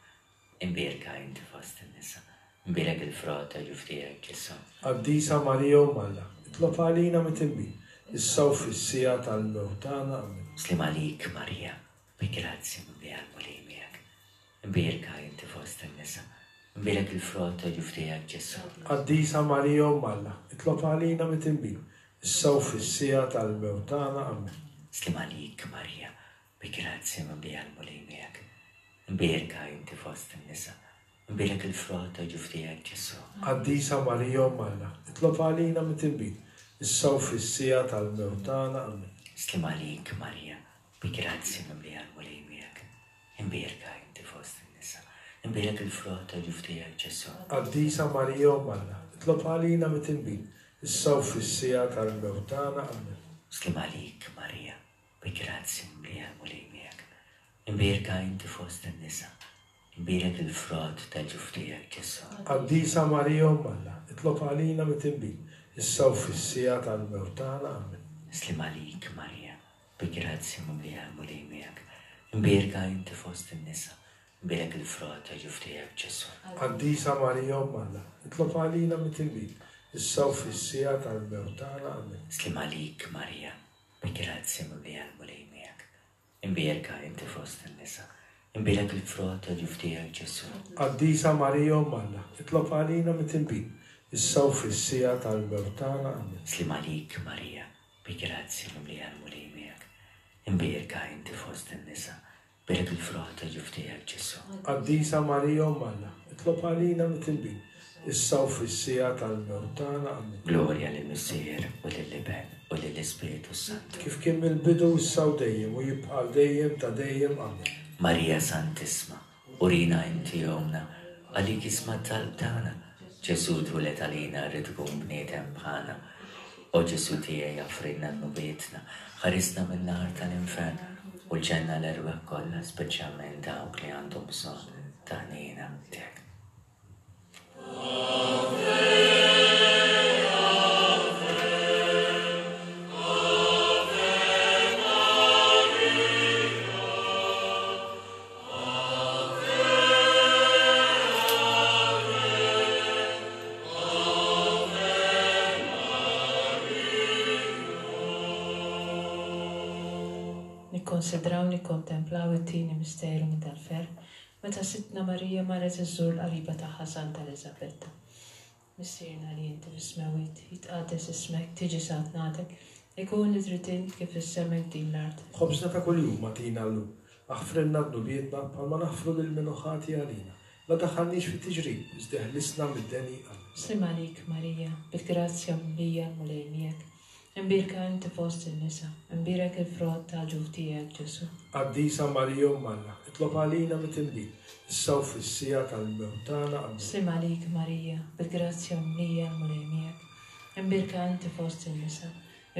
Imbierka inti fost in-nisa, imbierek il-frott ta' ġuf tiegħek, Ġesù. Qaddisa Marija Omm Alla, itlob għalina mitinbin, issa u fis-siegħa tal-mewt tagħna. Amen. Sliem għalik, Marija, bi grazzja mimlija l-Mulej miegħek. Imbierka inti fost in-nisa, imbierek il-frott ta' ġuf tiegħek, Ġesù. Qaddisa Marija Omm Alla, itlob għalina mitinbin, issa u fis-siegħa tal-mewt tagħna. Amen. Sliem għalik, Marija, bi grazzja mimlija l-Mulej miegħek. Imbierka inti fost in-nisa, imbierek il-frott ta' ġuf tiegħek, Ġesù. Qaddisa Marija Omm Alla, itlob għalina mitinbin, issa u fis-siegħa tal-mewt tagħna. Amen. Sliem għalik, Marija, bi grazzja mimlija l-Mulej miegħek. Imbierka inti fost in-nisa, imbierek il-frott ta' ġuf tiegħek, Ġesù. Qaddisa Marija Omm Alla, itlob għalina mitinbin, issa u fis-siegħa tal-mewt tagħna. Amen. Sliem għalik, Marija, bi grazzja mimlija l-Mulej miegħek. Imbierka inti fost in-nisa, imbierek il-frott tal-ġuf tiegħek, Ġesù. Qaddisa Marija Omm Alla, itlob għalina mitinbin, issa u fis-siegħa tal-mewt tagħna. Amen. Sliem għalik, Marija, Bi grazzja mimlija l-Mulej miegħek. Imbierka inti fost in-nisa, imbierek il-frott ta' ġuf tiegħek, Ġesù. Qaddisa Marija Omm Alla, itlob għalina mitinbin, issa u fis-siegħa tal-mewt tagħna. Amen. Sliem għalik, Marija, bi grazzja mimlija l-Mulej miegħek. Imbierka inti fost in-nisa, imbierek il-frott ta' ġuf tiegħek, Ġesù. Qaddisa Marija Omm Alla, itlob għalina mitinbin, issa u fis-siegħa tal-mewt tagħna. Amen. Sliem għalik, Marija, Bi grazzja mimlija l-Mulej miegħek. Imbierka inti fost in-nisa, bierek il-frott ta' ġuf tiegħek, Ġesù. Qaddisa Marija Omm Alla, itlob għalina mitinbin, issa u fis-siegħa tal-mewt tagħna. Amen. Glorja lill-Missier, u lill-Iben, u lill-Ispirtu s-Santu. Kif kien mill-bidu, issa u dejjem, u jibqa' għal dejjem ta' dejjem. Amen. Marija Santissma, Urina inti Ommna, għalik isma' t-talb tagħna. Ġesù twieled għalina ried ikun bniedem bħalna. O Ġesù tiegħi aħfrilna dnubietna, ħarisna min-nar tal-infern u l-ġenna l-erwieħ kollha speċjalment dawk li għandhom bżonn ta' ħniena tiegħek. Nikkonsidraw nikkontemplaw it-tieni misteru minn tal-ferħ meta Sidtna Marija marret iżżur l-qariba tagħha Santa Eliżabetta. Missierna li inti fis-smewwiet, jitqaddes ismek, tiġi saltnatek, ikun li trid int kif fis-sema hekk din l-art. Ħobżna ta' kuljum agħtina llum. Aħfrilna dnubietna bħalma naħfru lil min hu ħati għalina. La daħħalniex fit-tiġrib, iżda eħlisna mid-deni. Amen. Sliem għalik, Marija, bil-grazzja mimlija l-Mulej miegħek. Imbierka inti fost in-nisa, imbierek il-frott tal-ġuf tiegħek, Ġesù. Qaddisa Marija Omm Alla, itlob għalina mitnbin, issa u fis-siegħa tal-mewt tagħna. Amen. Sliem għalik, Marija, bil-grazzja mimlija l-Mulej miegħek. Imbierka inti fost in-nisa,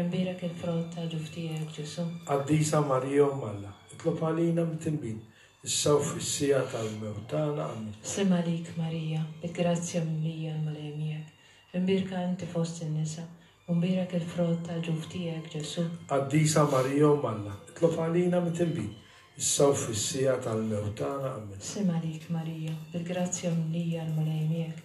imbierek il-frott tal-ġuf tiegħek, Ġesù. Qaddisa Marija Omm Alla, itlob għalina mitnbin, issa u fis-siegħa tal-mewt tagħna. Amen. Sliem għalik, Marija, bil-grazzja mimlija l-Mulej miegħek. Imbierka inti fost in-nisa, U mbierek il-frott tal-ġuf tiegħek, Ġesù. Qaddisa Marija Omm Alla, itlob għalina mitnbin, issa u fis-siegħa tal-mewt tagħna. Amen. Sliem għalik, Marija, bil-grazzja mimlija l-Mulej miegħek,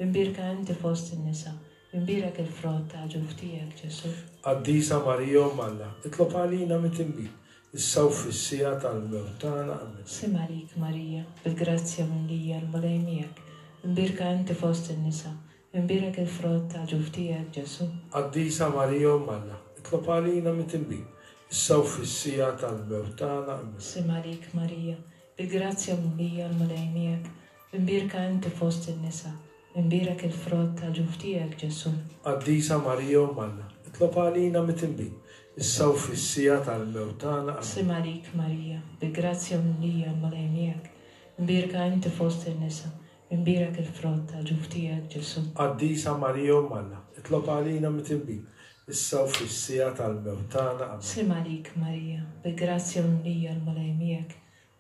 imbierka inti fost in-nisa, imbierek il-frott tal-ġuf tiegħek, Ġesù. Qaddisa Marija Omm Alla, itlob għalina mitnbin, issa u fis-siegħa tal-mewt tagħna. Amen. Sliem għalik, Marija, bil-grazzja mimlija l-Mulej miegħek, imbierka inti fost in-nisa, Imbierek il-frott tal-ġuf tiegħek, Ġesù. Qaddisa Marija Omm Alla, itlob għalina mitnbin, issa u fis-siegħa tal-mewt tagħna. Amen. Sliem għalik, Marija, bil-grazzja mimlija l-Mulej miegħek, imbierka inti fost in-nisa, imbierek il-frott tal-ġuf tiegħek, Ġesù. Qaddisa Marija Omm Alla, itlob għalina mitnbin, issa u fis-siegħa tal-mewt tagħna. Amen. Sliem għalik, Marija, bil-grazzja mimlija l-Mulej miegħek, imbierka inti fost in-nisa, Imbierek il-frott tal-ġuf tiegħek, Ġesù. Qaddisa Marija Omm Alla, itlob għalina mitnbin, issa u fis-siegħa tal-mewt tagħna. Amen. Sliem għalik, Marija, bil-grazzja mimlija l-Mulej miegħek,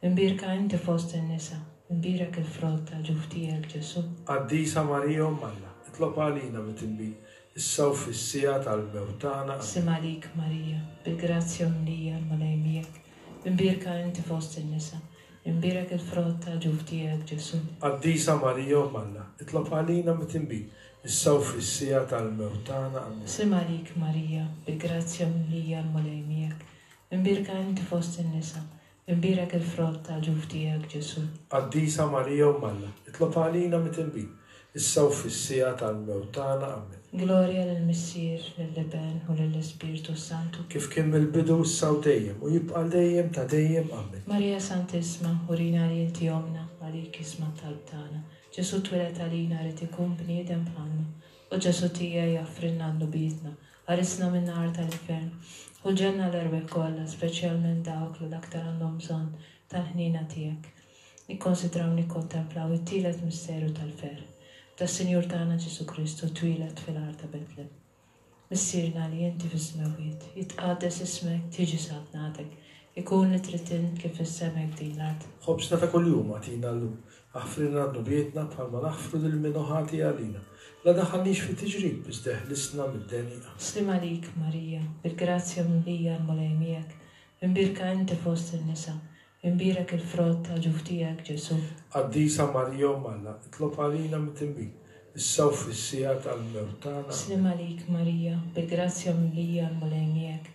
imbierka inti fost in-nisa, imbierek il-frott tal-ġuf tiegħek, Ġesù. Qaddisa Marija Omm Alla, itlob għalina mitnbin, issa u fis-siegħa tal-mewt tagħna. Amen. Sliem għalik, Marija, bil-grazzja mimlija l-Mulej miegħek, imbierka inti fost in-nisa, Imbierek il-frott tal-ġuf tiegħek, Ġesù. Qaddisa Marija Omm Alla, itlob għalina mitnbin, issa u fis-siegħa tal-mewt tagħna. Amen. Sliem għalik, Marija, bil-grazzja mimlija l-Mulej miegħek. Imbierka inti fost in-nisa, imbierek il-frott tal-ġuf tiegħek, Ġesù. Qaddisa Marija Omm Alla, itlob għalina mitnbin, issa u fis-siegħa tal-mewt tagħna. Amen. Glorja lill-Missier, lill-Iben, u lill-Ispirtu s-Santu. Kif kien mill-bidu, issa u dejjem, u jibqa' għal dejjem ta' dejjem. Amen. Marija Santissma, urina li inti Ommna, għalik jisma' t-talb tagħna. Ġesù twieled għalina ried ikun bniedem bħalna. O Ġesù tiegħi aħfrilna dnubietna, ħarisna min-nar tal-infern. Ħu l-ġenna l-erwieħ kollha, speċjalment dawk li l-aktar għandhom bżonn tal-ħniena tiegħek. Nikkonsidraw nikkontemplaw it-tielet misteru tal-ferħ, meta s-Sinjur tagħna Ġesù Kristu twieled fil-għar ta' Betlem. Missierna li inti fis-smewwiet, jitqaddes ismek, tiġi saltnatek, ikun li trid int kif fis-sema hekk din l-art. Ħobżna ta' kuljum agħtina llum. Aħfrilna dnubietna bħalma naħfru lil min hu ħati għalina. La daħħalniex fi tiġrib, iżda eħlisna mid-deni. Amen. Sliem għalik, Marija, bil-grazzja mimlija l-Mulej miegħek, imbierka inti fost in-nisa, Imbierek il-frott tal-ġuf tiegħek, Ġesù. Qaddisa Marija Omm Alla, itlob għalina mitnbin, issa u fis-siegħa tal-mewt tagħna. Amen. Sliem għalik, Marija, bil-grazzja mimlija l-Mulej miegħek.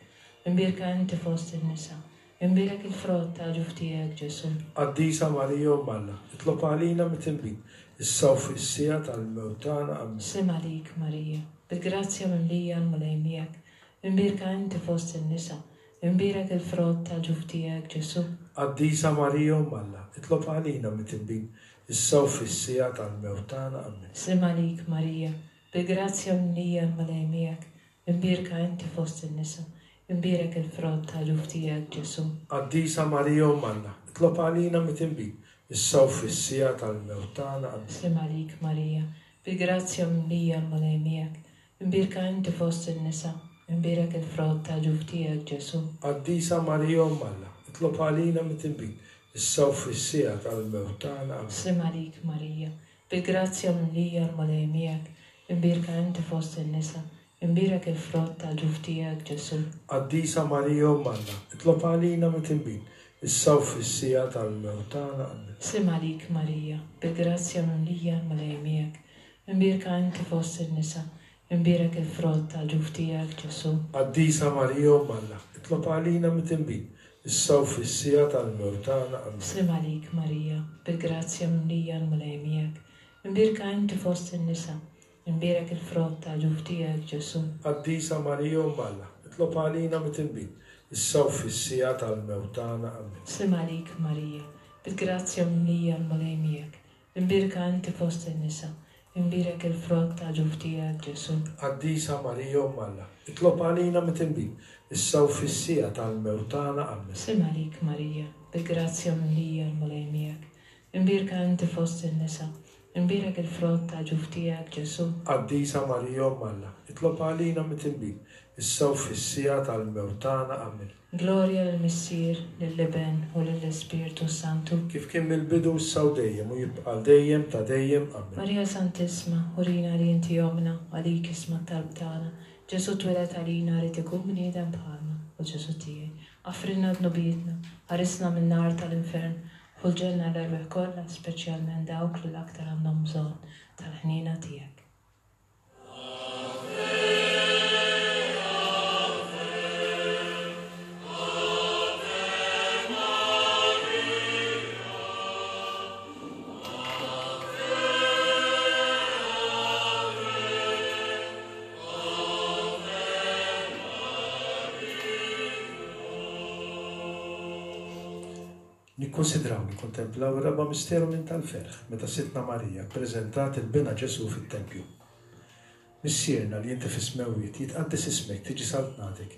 Imbierka inti fost in-nisa. Imbierek il-frott tal-ġuf tiegħek, Ġesù. Qaddisa Marija Omm Alla, itlob għalina mitnbin, issa u fis-siegħa tal-mewt tagħna. Amen. Sliem għalik, Marija, bil-grazzja mimlija l-Mulej miegħek. Imbierka inti fost in-nisa. Imbierek il-frott tal-ġuf tiegħek, Ġesù. Qaddisa Marija Omm Alla, itlob għalina mitnbin, issa u fis-siegħa tal-mewt tagħna. Amen. Sliem għalik, Marija, bil-grazzja mimlija l-Mulej miegħek, imbierka inti fost in-nisa, imbierek il-frott tal-ġuf tiegħek, Ġesù. Qaddisa Marija Omm Alla, itlob għalina mitnbin, issa u fis-siegħa tal-mewt tagħna. Amen. Sliem għalik, Marija, bil-grazzja mimlija l-Mulej miegħek, Imbierka inti fost in-nisa, imbierek il-frott tal-ġuf tiegħek, Ġesù. Qaddisa Marija Omm Alla, itlob għalina mitnbin, issa u fis-siegħa tal-mewt tagħna. Amen. Sliem għalik, Marija, bil-grazzja mimlija l-Mulej miegħek, imbierka inti fost in-nisa, imbierek il-frott tal-ġuf tiegħek, Ġesù. Qaddisa Marija Omm Alla, itlob għalina mitnbin, issa u fis-siegħa tal-mewt tagħna. Amen. Sliem għalik, Marija, bil-grazzja mimlija l-Mulej miegħek, Imbierka inti fost in-nisa, imbierek il-frott tal-ġuf tiegħek, Ġesù. Qaddisa Marija Omm Alla, itlob għalina mitnbin, issa u fis-siegħa tal-mewt tagħna. Amen. Sliem għalik, Marija, bil-grazzja mimlija l-Mulej miegħek. Imbierka inti fost in-nisa, Imbierek il-frott tal-ġuf tiegħek, Ġesù. Qaddisa Marija Omm Alla, itlob għalina midinbin, issa u fis-siegħa tal-mewt tagħna. Ammen. Sliem għalik, Marija, bil-grazzja mimlija l-Mulej miegħek. Imbierka inti fost in-nisa, imbierek il-frott tal-ġuf tiegħek, Ġesù. Qaddisa Marija Omm Alla, itlob għalina midinbin, issa u fis-siegħa tal-mewt tagħna. Ammen. Sliem għalik, Marija, bil-grazzja mimlija l-Mulej miegħek. Imbierka inti fost in-nisa, imbierek il-frott tal-ġuf tiegħek, Ġesù. Qaddisa Marija Omm Alla, itlob għalina midinbin, issa u fis-siegħa tal-mewt tagħna. Ammen. Glorja lill-Missier, lill-Iben, u lill-Ispirtu s-Santu. Kif kien mill-bidu, issa u dejjem, u jibqa' għal dejjem ta' dejjem. Ammen. Marija Santissma, urina li inti Ommna, għalik isma' t-talb tagħna. Ġesù twieled għalina ried ikun bniedem bħalna, o Ġesù tiegħi, aghfrilna dnubietna, ħarisna min-nar tal-infern, Ħu l-ġenna l-erwieħ kollha, speċjalment dawk li l-aktar għandhom bżonn tal-ħniena tiegħek. Nikkunsidraw nikkontemplaw ir-raba' misteru minn tal-ferħ, meta Sidtna Marija ppreżentat 'il Binha Ġesù fit-tempju. Missierna li inti fis-smewwiet, jitqaddes ismek, tiġi saltnatek,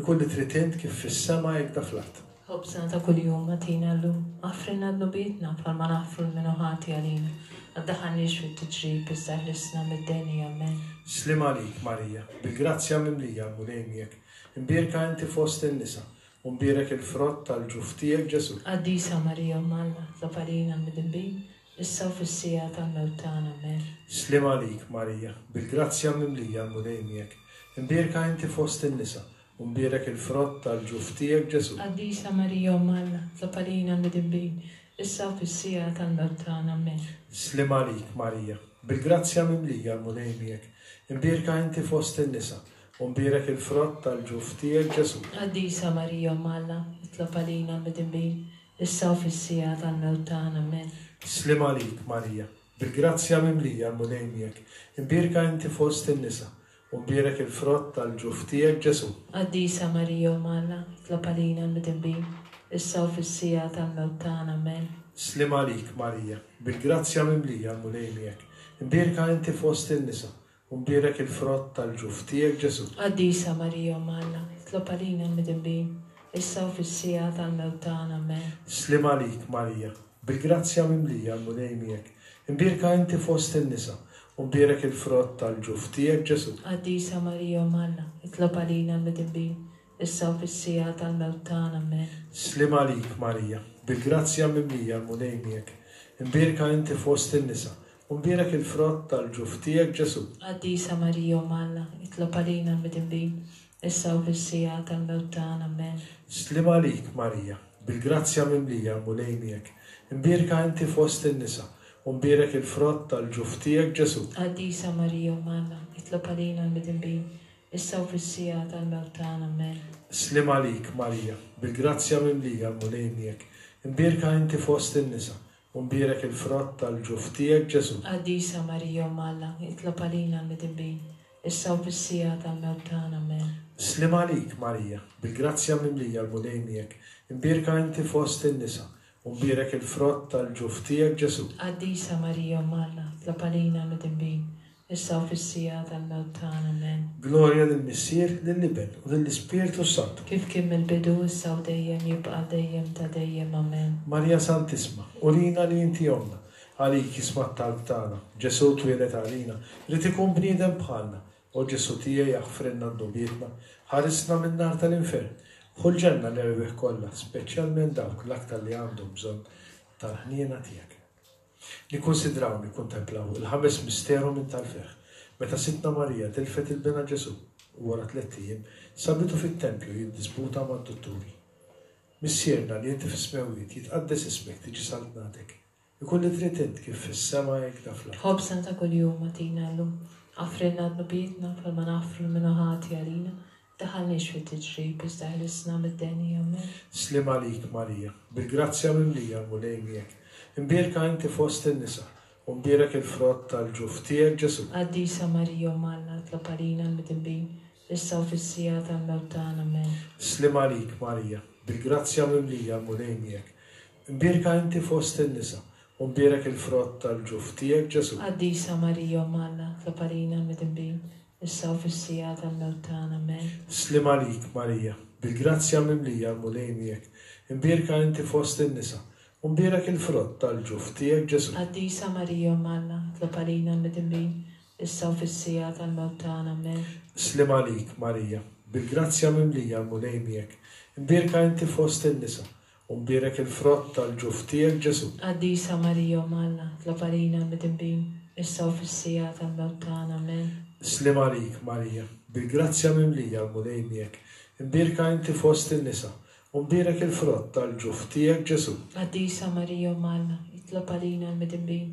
ikun li trid int kif fis-sema hekda fl-art. Ħobżna ta' kuljum agħtina llum, aħfrilna dnubietna bħalma naħfru 'l min hu ħati għalina, ma ddaħħalniex fit-tiġrib iżda eħlisna mid-deni. Ammen. Sliem għalik, Marija, bil-grazzja mimlija, l-Mulej miegħek. Imbierka inti fost in-nisa, U mbierek il-frott tal-ġuf tiegħek, Ġesù. Qaddisa Marija Omm Alla, tlob għalina l-midinbin, issa u fis-siegħa tal-mewt tagħna. Ammen. Sliem għalik, Marija, bil-grazzja mimlija l-Mulej miegħek. Imbierka inti fost in-nisa, u mbierek il-frott tal-ġuf tiegħek, Ġesù. Qaddisa Marija Omm Alla, tlob għalina l-midinbin, issa u fis-siegħa tal-mewt tagħna. Ammen. Sliem għalik, Marija, bil-grazzja mimlija l-Mulej miegħek. Imbierka inti fost in-nisa, U mbierek il-frott tal-ġuf tiegħek, Ġesù. Qaddisa Marija Omm Alla, itlob għalina l-midinbin, issa u fis-siegħa tal-mewt tagħna. Ammen. Sliem għalik, Marija, bil-grazzja mimlija l-Mulej miegħek, imbierka inti fost in-nisa, u mbierek il-frott tal-ġuf tiegħek, Ġesù. Qaddisa Marija Omm Alla, itlob għalina l-midinbin, issa u fis-siegħa tal-mewt tagħna. Ammen. Sliem għalik, Marija, bil-grazzja mimlija l-Mulej miegħek, imbierka inti fost in-nisa, U mbierek il-frott tal-ġuf tiegħek, Ġesù. Qaddisa Marija Omm Alla, itlob għalina l-midinbin, issa u fis-siegħa tal-mewt tagħna. Ammen. Sliem għalik, Marija, bil-grazzja mimlija l-Mulej miegħek. Imbierka inti fost in-nisa, u mbierek il-frott tal-ġuf tiegħek, Ġesù. Qaddisa Marija Omm Alla, itlob għalina l-midinbin, issa u fis-siegħa tal-mewt tagħna. Ammen. Sliem għalik, Marija, bil-grazzja mimlija l-Mulej miegħek. Imbierka inti fost in-nisa, U mbierek il-frott tal-ġuf tiegħek, Ġesù. Qaddisa Marija Omm Alla, itlob għalina l-midinbin, issa u fis-siegħa tal-mewt tagħna. Ammen. Sliem għalik, Marija, bil-grazzja mimlija, l-Mulej miegħek. Imbierka inti fost in-nisa, u mbierek il-frott tal-ġuf tiegħek, Ġesù. Qaddisa Marija Omm Alla, itlob għalina l-midinbin, issa u fis-siegħa tal-mewt tagħna. Ammen. Sliem għalik, Marija, bil-grazzja mimlija, l-Mulej miegħek. Imbierka inti fost in-nisa, U mbierek il-frott tal-ġuf tiegħek, Ġesù. Qaddisa Marija Omm Alla, itlob għalina l-midinbin, issa u fis-siegħa tal-mewt tagħna. Ammen. Sliem għalik, Marija, bil-grazzja mimlija l-Mulej miegħek, imbierka inti fost in-nisa, u mbierek il-frott tal-ġuf tiegħek, Ġesù. Qaddisa Marija Omm Alla, itlob għalina l-midinbin, issa u fis-siegħa tal-mewt tagħna. Amen. Glorja lill-Missier, lill-Iben, u lill-Ispirtu s-Santu. Kif kien mill-bidu, issa u dejjem, jibqa' għal dejjem ta' dejjem. Amen. Marija Santissma, urina li inti Ommna. Għalik jisma' t-talb tagħna. Ġesù twieled għalina, ried ikun bniedem bħalna. O Ġesù tiegħi aħfrilna dnubietna, ħarisna min-nar tal-infern. Ħu l-ġenna l-erwieħ kollha, speċjalment dawk l-aktar li għandhom bżonn tal-ħniena tiegħek. Nikkunsidraw, nikkuntemplaw, il-ħames misteru minn tal-ferħ, meta Sidtna Marija tilfet 'il Binha Ġesù u wara tlett ijiem sabitu fit-tempju jiddisputa mad-dutturi. Missierna li inti fis-smewwiet, jitqaddes ismek, tiġi saltnatek. Ikun li trid int kif fis-sema hekk da fl-art. Ħobżna ta' kuljum agħtina llum. Aghfrilna dnubietna bħalma naghfru 'l min hu ħati għalina. Tdaħħalniex fit-tiġrib, iżda eħlisna mid-deni. Ammen. Sliem għalik, Marija, bil-grazzja mimlija l-Mulej miegħek. Imbierka inti fost in-nisa, U mbierek il-frott tal-ġuf tiegħek, Ġesù. Qaddisa Marija Omm Alla, itlob għalina l-midinbin, issa u fis-siegħa tal-mewt tagħna. Amen. Sliem għalik, Marija, bil-grazzja mimlija l-Mulej miegħek. Imbierka inti fost in-nisa, u mbierek il-frott tal-ġuf tiegħek, Ġesù. Qaddisa Marija Omm Alla, itlob għalina l-midinbin, issa u fis-siegħa tal-mewt tagħna. Amen. Sliem għalik, Marija, bil-grazzja mimlija l-Mulej miegħek. Imbierka inti fost in-nisa, U mbierek il-frott tal-ġuf tiegħek, Ġesù. Qaddisa Marija Omm Alla, itlob għalina l-midinbin, issa u fis-siegħa tal-mewt tagħna. Amen. Sliem għalik, Marija, bil-grazzja mimlija l-Mulej miegħek. Imbierka inti fost in-nisa, u mbierek il-frott tal-ġuf tiegħek, Ġesù. Qaddisa Marija Omm Alla, itlob għalina l-midinbin, issa u fis-siegħa tal-mewt tagħna. Amen. Sliem għalik, Marija, bil-grazzja mimlija l-Mulej miegħek. Imbierka inti fost in-nisa, U mbierek il-frott tal-ġuf tiegħek, Ġesù. Qaddisa Marija Omm Alla, itlob għalina l-midinbin,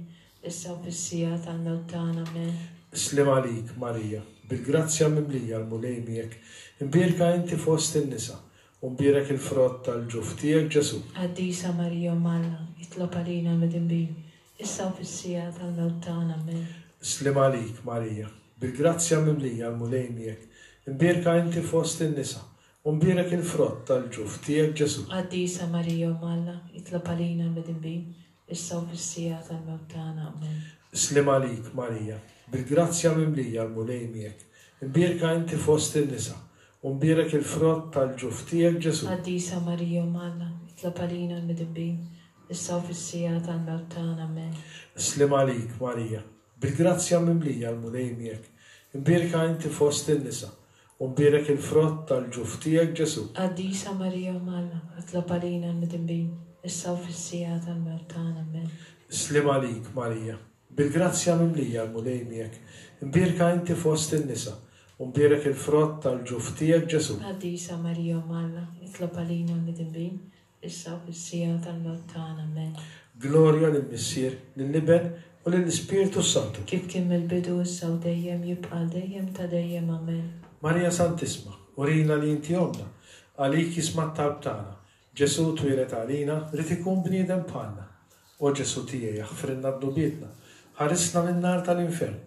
issa u fis-siegħa tal-mewt tagħna. Amen. Sliem għalik, Marija, bil-grazzja mimlija l-Mulej miegħek, imbierka inti fost in-nisa, u mbierek il-frott tal-ġuf tiegħek, Ġesù. Qaddisa Marija Omm Alla, itlob għalina l-midinbin, issa u fis-siegħa tal-mewt tagħna. Amen. Sliem għalik, Marija, bil-grazzja mimlija l-Mulej miegħek, imbierka inti fost in-nisa, U mbierek il-frott tal-ġuf tiegħek, Ġesù. Qaddisa Marija Omm Alla, itlob għalina l-midinbin, issa u fis-siegħa tal-mewt tagħna. Amen. Sliem għalik, Marija, bil-grazzja mimlija l-Mulej miegħek. Imbierka inti fost in-nisa, u mbierek il-frott tal-ġuf tiegħek, Ġesù. Qaddisa Marija Omm Alla, itlob għalina l-midinbin, issa u fis-siegħa tal-mewt tagħna. Amen. Sliem għalik, Marija, bil-grazzja mimlija l-Mulej miegħek. Imbierka inti fost in-nisa, U mbierek il-frott tal-ġuf tiegħek, Ġesù. Qaddisa Marija Omm Alla, itlob għalina l-midinbin, issa u fis-siegħa tal-mewt tagħna. Amen. Sliem għalik, Marija, bil-grazzja mimlija l-Mulej miegħek. Imbierka inti fost in-nisa, u mbierek il-frott tal-ġuf tiegħek, Ġesù. Qaddisa Marija Omm Alla, itlob għalina l-midinbin, issa u fis-siegħa tal-mewt tagħna. Amen. Glorja lill-Missier, lill-Iben, u lill-Ispirtu s-Santu. Kif kien mill-bidu, issa u dejjem, jibqa' għal dejjem ta' dejjem. Amen. Marija Santissma, urina li inti Ommna, għalik jisma' t-talb tagħna. Ġesù twieled għalina, ried ikun bniedem bħalna. O Ġesù tiegħi, aħfrilna dnubietna, ħarisna min-nar tal-infern,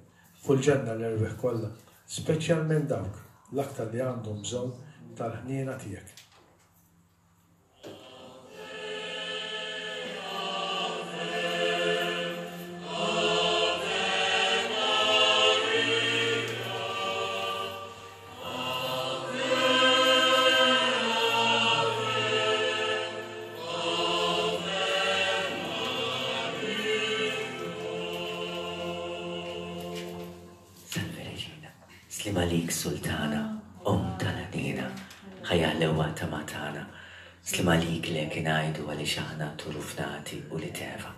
ħu l-ġenna l-erwieħ kollha, speċjalment dawk l-aktar li għandhom bżonn tal-ħniena tiegħek. Salve Regina, Sliem għalik Sultana, Omm tal-ħniena, ħajja ħlewwa tama tagħna. Sliem għalik lek ingħidu għaliex aħna turufnati u li teva.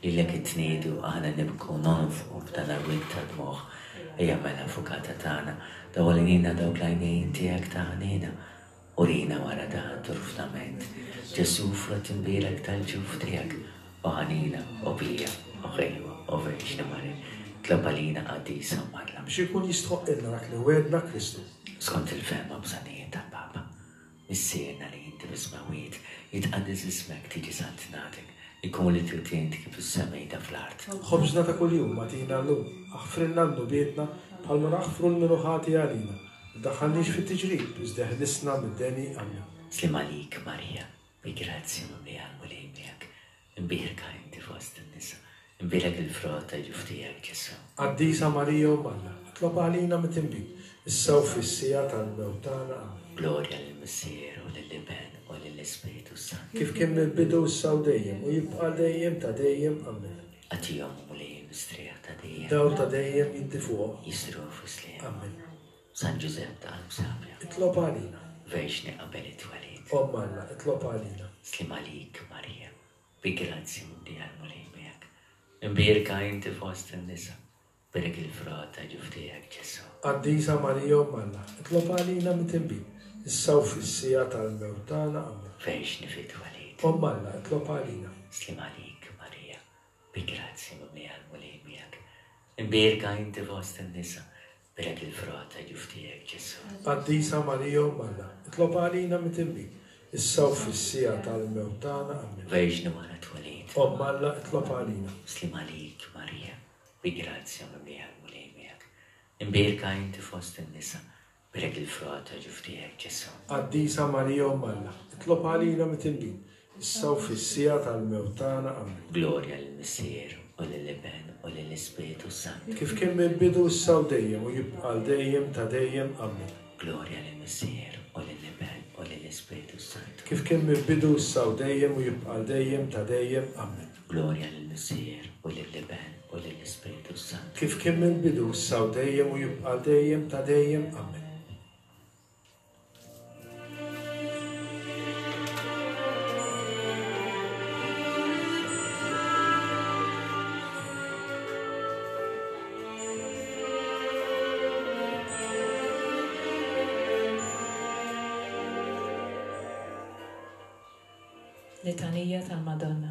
Lilek intniedu aħna nibku nonfqu f'dan l-wied ta' dmugħ. Ejja mela Avukata tagħna, dawwal għinina dawk l-għajnejn tiegħek ta' ħniena. Urina wara dan turfnament, Ġesù frott imbierek tal-ġuf tiegħek, o ħanina, o pija, o ħelwa, o Verġni Marija, itlob għalina qaddisa Omm Alla. Biex ikun jistħoqqilna dak li wegħedna Kristu. Skont il-fehma bżonnijiet tal-Papa. Missierna li inti fis-smewwiet, jitqaddes ismek, tiġi saltnatek, ikun li trid int kif fis-sema ida fl-art. Ħobżna ta' kuljum agħtina llum, aħfrilna dnubietna bħalma naħfru 'l min hu ħati għalina, Tdaħħalniex fit-tiġrib, iżda eħlisna mid-deni. Amen. Sliem għalik, Marija, bi grazzja mimlija l-Mulej miegħek. Imbierka inti fost in-nisa, imbierek il-frott ta' ġuf tiegħek, Ġesù. Qaddisa Marija Omm Alla, itlob għalina mitinbin, issa u fis-siegħa tal-mewt tagħna. Amen. Glorja lill-Missier u lill-Iben u lill-Ispirtu s-Santu. Kif kien mill-bidu, issa u dejjem, u jibqa' għal dejjem ta' dejjem. Amen. Agħtihom, o Mulej, il-mistrieħ ta' dejjem. Dawl ta' dejjem jiddi fuqhom. Jisru fi sliem. Amen. San Ġużepp ta' qalb safja. Itlob għalina. Verġni qabel it-twelid. Omm Alla, itlob għalina. Sliem għalik, Marija, bi grazzja mimlija l-Mulej miegħek. Imbierka inti fost in-nisa, bierek il-frott ta' ġuf tiegħek, Ġesù. Qaddisa Marija Omm Alla, itlob għalina mitinbin, issa u fis-siegħa tal-mewt tagħna. Amen. Verġni fit-twelid. Omm Alla, itlob għalina. Sliem għalik, Marija, bi grazzja mimlija l-Mulej miegħek. Imbierka inti fost in-nisa, Bierek il-frott ta' ġuf tiegħek, Ġesù. Qaddisa Marija Omm Alla, itlob għalina mitinbin, Issa u fis-siegħa tal-mewt tagħna. Ammen. Verġni wara twelid. Omm Alla, itlob għalina. Sliem għalik, Marija, bi grazzja mimlija l-Mulej miegħek. Imbierka inti fost in-nisa, Bierek il-frott ta' ġuf tiegħek, Ġesù. Qaddisa Marija Omm Alla, itlob għalina mitillin, issa u fis-siegħa tal-mewt tagħna. Ammen. Glorja lill-Missier, u lill-Iben, u lill-Ispirtu s-Santu. Kif kien mill-bidu, issa u dejjem, u jibqa' għal dejjem ta' dejjem. Ammen. Glorja lill-Missier, u lill-Iben, u lill-Ispirtu s-Santu. Kif kien mill-bidu, issa u dejjem, u jibqa' għal dejjem ta' dejjem. Ammen. Glorja lill-Missier, u lill-Iben, u lill-Ispirtu s-Santu. Kif kien mill-bidu, issa u dejjem, u jibqa' għal dejjem ta' dejjem. Ammen. Litanija tal-Madonna.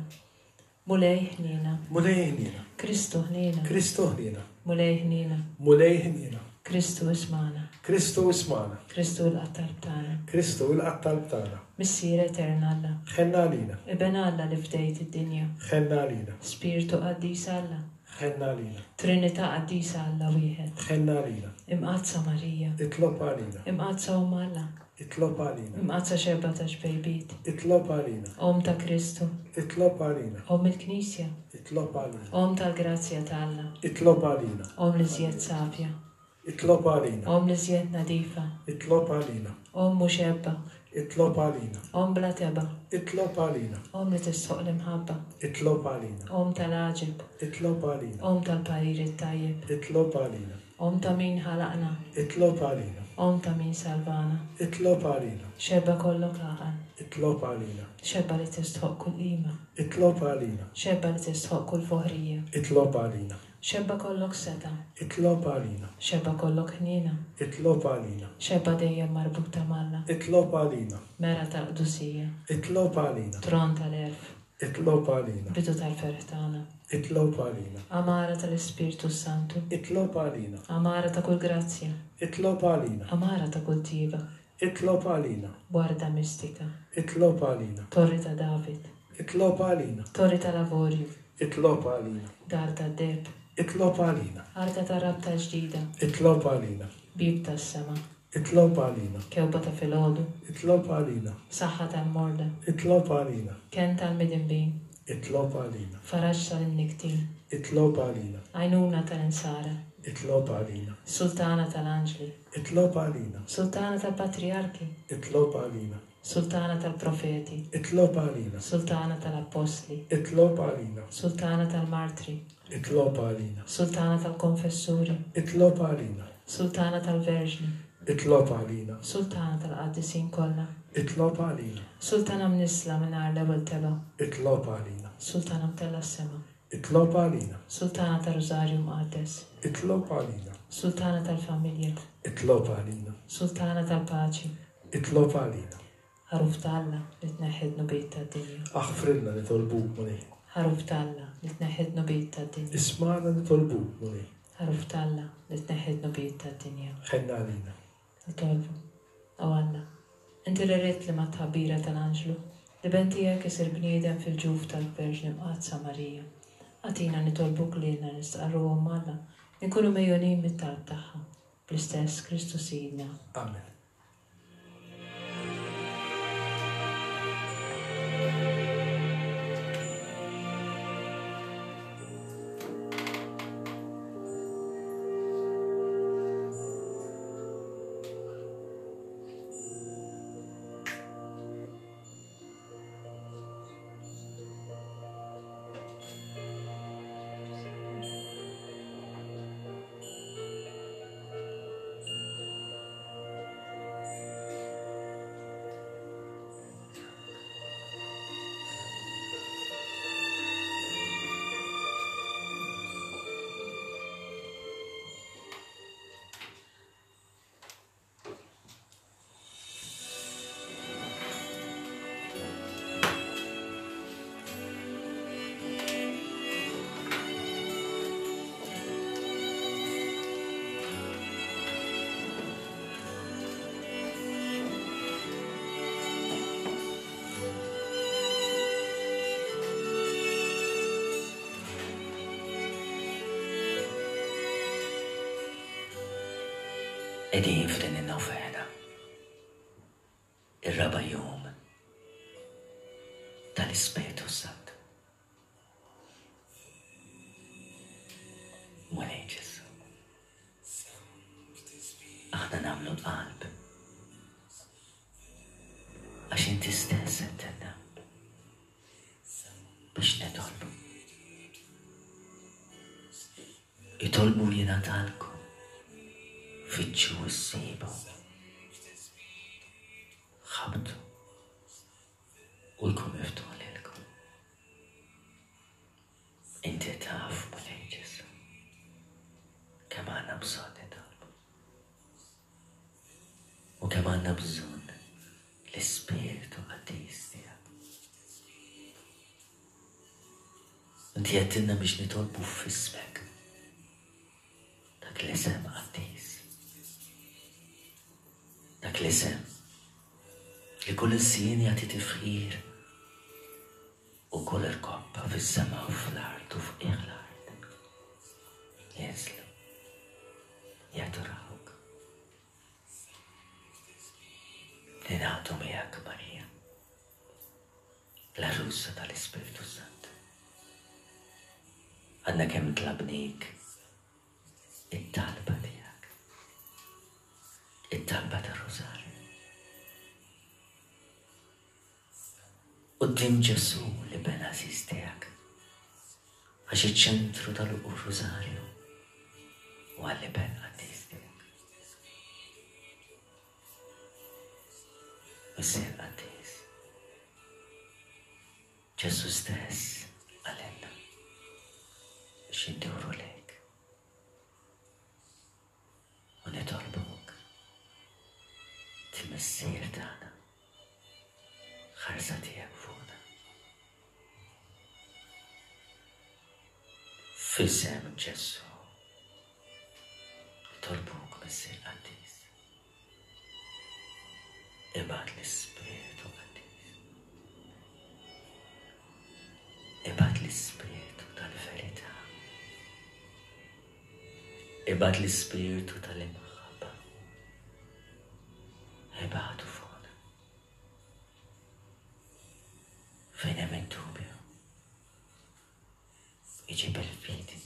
Mulej ħniena. Mulej ħniena. Kristu ħniena. Kristu ħniena. Mulej ħniena. Mulej ħniena. Kristu ismagħna. Kristu ismagħna. Kristu ilqa' t-talb tagħna. Kristu ilqa' t-talb tagħna. Missier etern Alla. Ħenna għalina. Iben Alla li fdejt id-dinja. Ħenna għalina. Spirtu qaddis Alla. Ħenna għalina. Trinità qaddisa Alla wieħed. Ħenna għalina. Imqaddsa Marija. Itlob għalina. Imqaddsa Omm Alla. Itlob għalina. Imqaddsa xebba ta' xbejbiet. Itlob għalina. Omm ta' Kristu. Itlob għalina. Omm il-Knisja. Itlob għalina. Omm tal-grazzja ta' Alla. Itlob għalina. Omm l-iżjed savja. Itlob għalina. Omm l-iżjed nadifa. Itlob għalina. Omm mhux ebba. Itlob għalina. Omm bla tebgħa. Itlob għalina. Omm li tistħoqq l-imħabba. Itlob għalina. Omm tal-għaġeb. Itlob għalina. Omm tal-parir it-tajjeb. Itlob għalina. Omm ta' min ħalaqna. Itlob għalina. Omm ta' min salvana. Itlob għalina. Xebba kollok għaqal. Itlob għalina. Xebba li tistħoqq kull qima. Itlob għalina. Xebba li tistħoqq kull foħrija. Itlob għalina. Xebba kollok setgħa. Itlob għalina. Xebba kollok ħniena. Itlob għalina. Xebba dejjem marbuta m'Alla. Itlob għalina. Mera tal-qdusija. Itlob għalina. Tron tal-għerf. Itlob għalina. Bidu tal-ferħ tagħna. Itlob għalina. Għamara tal-Ispirtu s-Santu. Itlob għalina. Għamara ta' kull grazzja. Itlob għalina. Għamara ta' kull tjieba. Itlob għalina. Warda mistika. Itlob għalina. Torri ta' David. Itlob għalina. Torri tal-avorju. Itlob għalina. Dar tad-deheb. Itlob għalina. Arka tar-rabta l-ġdida. Itlob għalina. Bieb tas-sema. Itlob għalina. Kewba ta' filgħodu. Itlob għalina. Saħħa tal-morda. Itlob għalina. Kenn tal-midinbin. Itlob għalina. Faraġ tal-imnikktin. Itlob għalina. Għajnuna tal-insara. Itlob għalina. Sultana tal-anġli. Itlob għalina. Sultana tal-patrijarki. Itlob għalina. Sultana tal-profeti. Itlob għalina. Sultana tal-appostli. Itlob għalina. Sultana tal-martri. Itlob għalina. Sultana tal-konfessuri. Itlob għalina. Sultana tal-verġni. Itlob għalina. Sultana tal-qaddisin kollha. Itlob għalina. Sultana mnissla mingħajr l-ewwel tebgħa. Itlob għalina. Sultana mtellgħa s-sema. Itlob għalina. Sultana tar-Rużarju Mqaddes. Itlob għalina. Sultana tal-familja. Itlob għalina. Sultana tal-paċi. Itlob għalina. Ħaruf ta' Alla li tneħħi d-dnubiet tad-dinja. Aħfrilna nitolbuk, Mulej. Ħaruf ta' Alla li tneħħi d-dnubiet tad-dinja. Ismagħna nitolbuk, Mulej. Ħaruf ta' Alla li tneħħi d-dnubiet tad-dinja. Ħenna għalina. Nitolbu. O Alla, inti li ridt li mat-tħabbira tal-anġlu, l-Iben tiegħek isir bniedem fil-ġuf tal-Verġni Mqaddsa Marija, agħtina nitolbuk lilna nistqarru Omm Alla li nkunu megħjunin mit-talb tagħha, bl-istess Kristu Sidna. Amen. Qegħdin f'din in-novena, ir-raba' jum tal-Ispirtu Santu. Mulej Ġesù, aħna nagħmlu l-qalb għax inti stess għedtilna biex nitolbu. Itolbu jingħatalkom, fittxu u ssibu. Ħabbtu u jkun miftuħ lilkom. Inti taf, Mulej Ġesù, kemm għandna bżonn nitolbu. U kemm għandna bżonn l-Ispirtu Qaddis tiegħek. Inti għedtilna biex nitolbu f'ismek. Dak l-isem qaddis. Dak l-isem li kull ilsien jagħti tifħir u kull irkoppa fis-sema u fl-art u f'qiegħ l-art. Jinżlu, jadurawk. Ningħaqdu miegħek Marija, l-għarusa tal-Ispirtu Santu. Għadna kemm tlabnik it-talba tiegħek. It-talba tar-Rużarju. Quddiem Ġesù l-Iben għażiż tiegħek, għax iċ-ċentru tal-Rużarju huwa l-Iben qaddis tiegħek. Missier qaddis, Ġesù stess qalilna biex induru lejk u nitolbuk, il-Missier tagħna, ħarsa tiegħek fuqna. F'isem Ġesù, nitolbuk Missier Qaddis. Ibgħat l-Ispirtu Qaddis. Ibgħat l-Ispirtu tal-verità. Ibgħat l-Ispirtu tal-imħabba. Ibgħatu fuqna. Fejn hemm id-dubju, iġib il-fidi.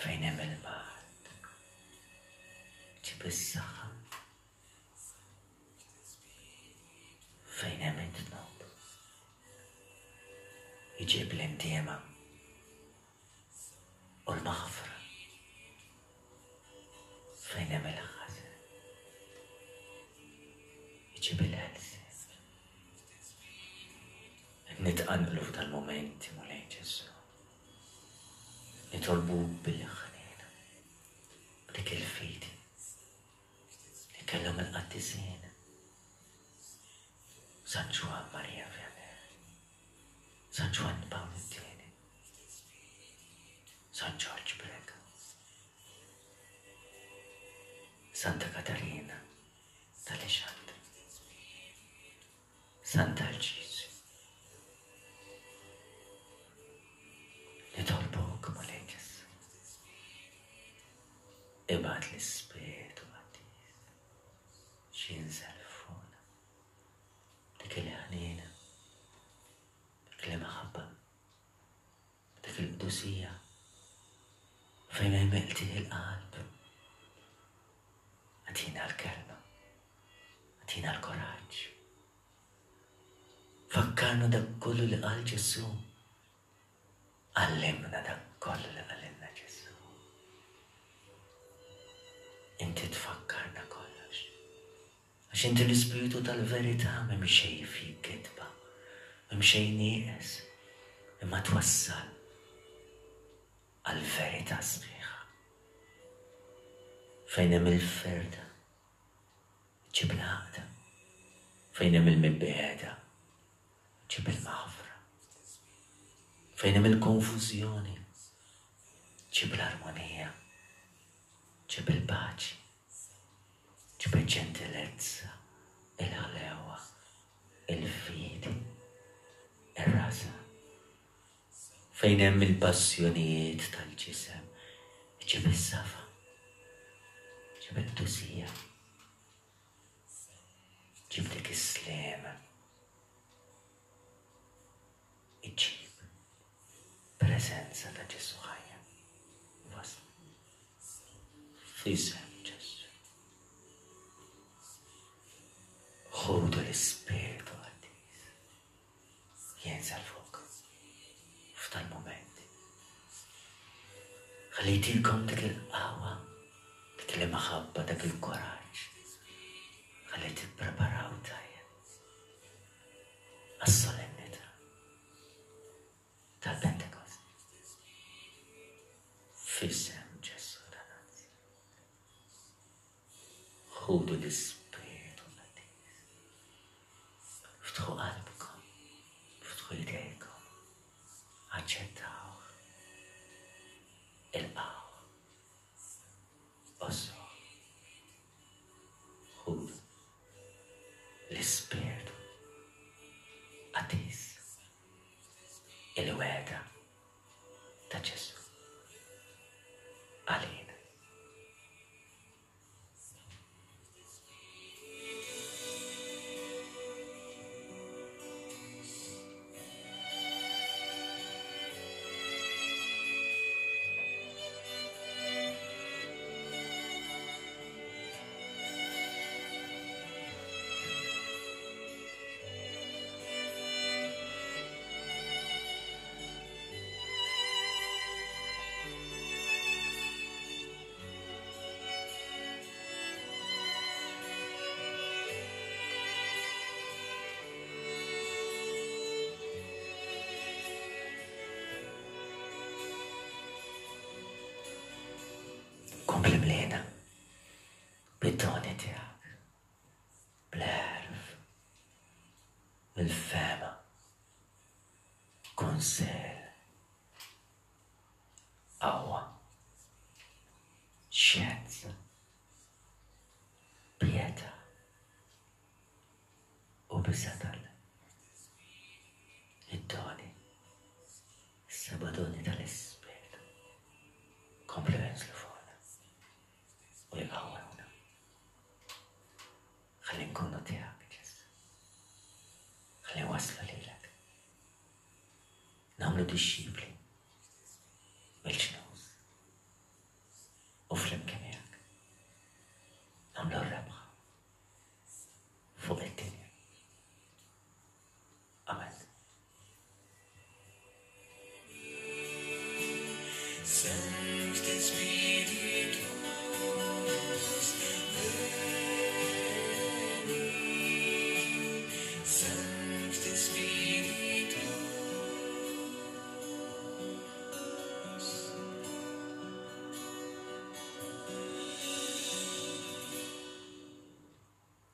Fejn hemm il-mard, ġib is-saħħa. Fejn hemm id-dnub, iġib l-indiema u l-maħfra. Fejn hemm il-ħażen, iġib il-ħelsien. Nitqanqlu f'dal-mumenti, Mulej Ġesù. Nitolbuk bil-ħniena, b'dik il-fidi li kellhom il-qaddisin. San Ġwann Maria Vianney, San Ġwann Pawl it-Tieni, San Ġorġ Preca, Santa Katarina tal-Ixandri, Sant'Arċisju. Nitolbuk, Mulej Ġesù. Ibgħat l-Ispirtu Qaddis x'jinżel fuqna. Dik il-ħniena, dik l-imħabba, dik il-qdusija fejn hemm iqtih il-qalb. Agħtina l-kelma. Agħtina l-kuraġġ. Fakkarna dak kollu li qal Ġesù. Għallimna dak kollu li qalilna Ġesù. Inti tfakkarna kollox. Għax inti l-Ispirtu tal-verità m'hemm xejn fik kitba, m'hemm xejn nieqes, imma twassal għall-verità sħiħa. Fejn hemm il-ferda, ġib l-għaqda. Fejn hemm il-mibegħda, ġib il-maħfra. Fejn hemm il-konfużjoni, ġib l-armonija, ġib il-paċi, ġib il-ġentilezza, il-ħlewa, il-fidi, ir-rażan. Fejn hemm il-passjonijiet tal-ġisem, iġib is-safa. Ġib il-qdusija. Ġib dik is-sliem. Iġib preżenza ta' Ġesù ħajja. Wasla. F'isem Ġesù. Ħudu l-Ispirtu Qaddis. Jinżel fuqkom f'dal-mument. Ħalli jtikom dik il-qawwa, dik l-imħabba, dak il-kuraġġ. Ħalli tippreparaw tajjeb għas-solennità tal-Pentekost. F'isem Ġesù ta' Nazaret. Ħudu l-Ispirtu Qaddis. Ftħu qalbkom, ftħu jdejkom, aċċettawh, ilqgħuh, għożżuh. Ħudu l-Ispirtu Qaddis, il-wegħda ta' Ġesù għalina. Kompli mliena bid-doni tiegħek, bl-għerf, bil-fehma, kunsill, qawwa, xjenza, pjetà u biża' t'Alla. Id-doni, is-seba' doni tal-Ispirtu, komplu jinżlu fuqna u jqawwewna. Ħalli nkunu tiegħek, Ġesù. Ħalli nwasslu lilek. Nagħmlu dixxipli mill-ġnus u flimkien miegħek nagħmlu r-rebħa fuq id-dinja. Amen. Sancte Spiritus, veni, Sancte Spiritus.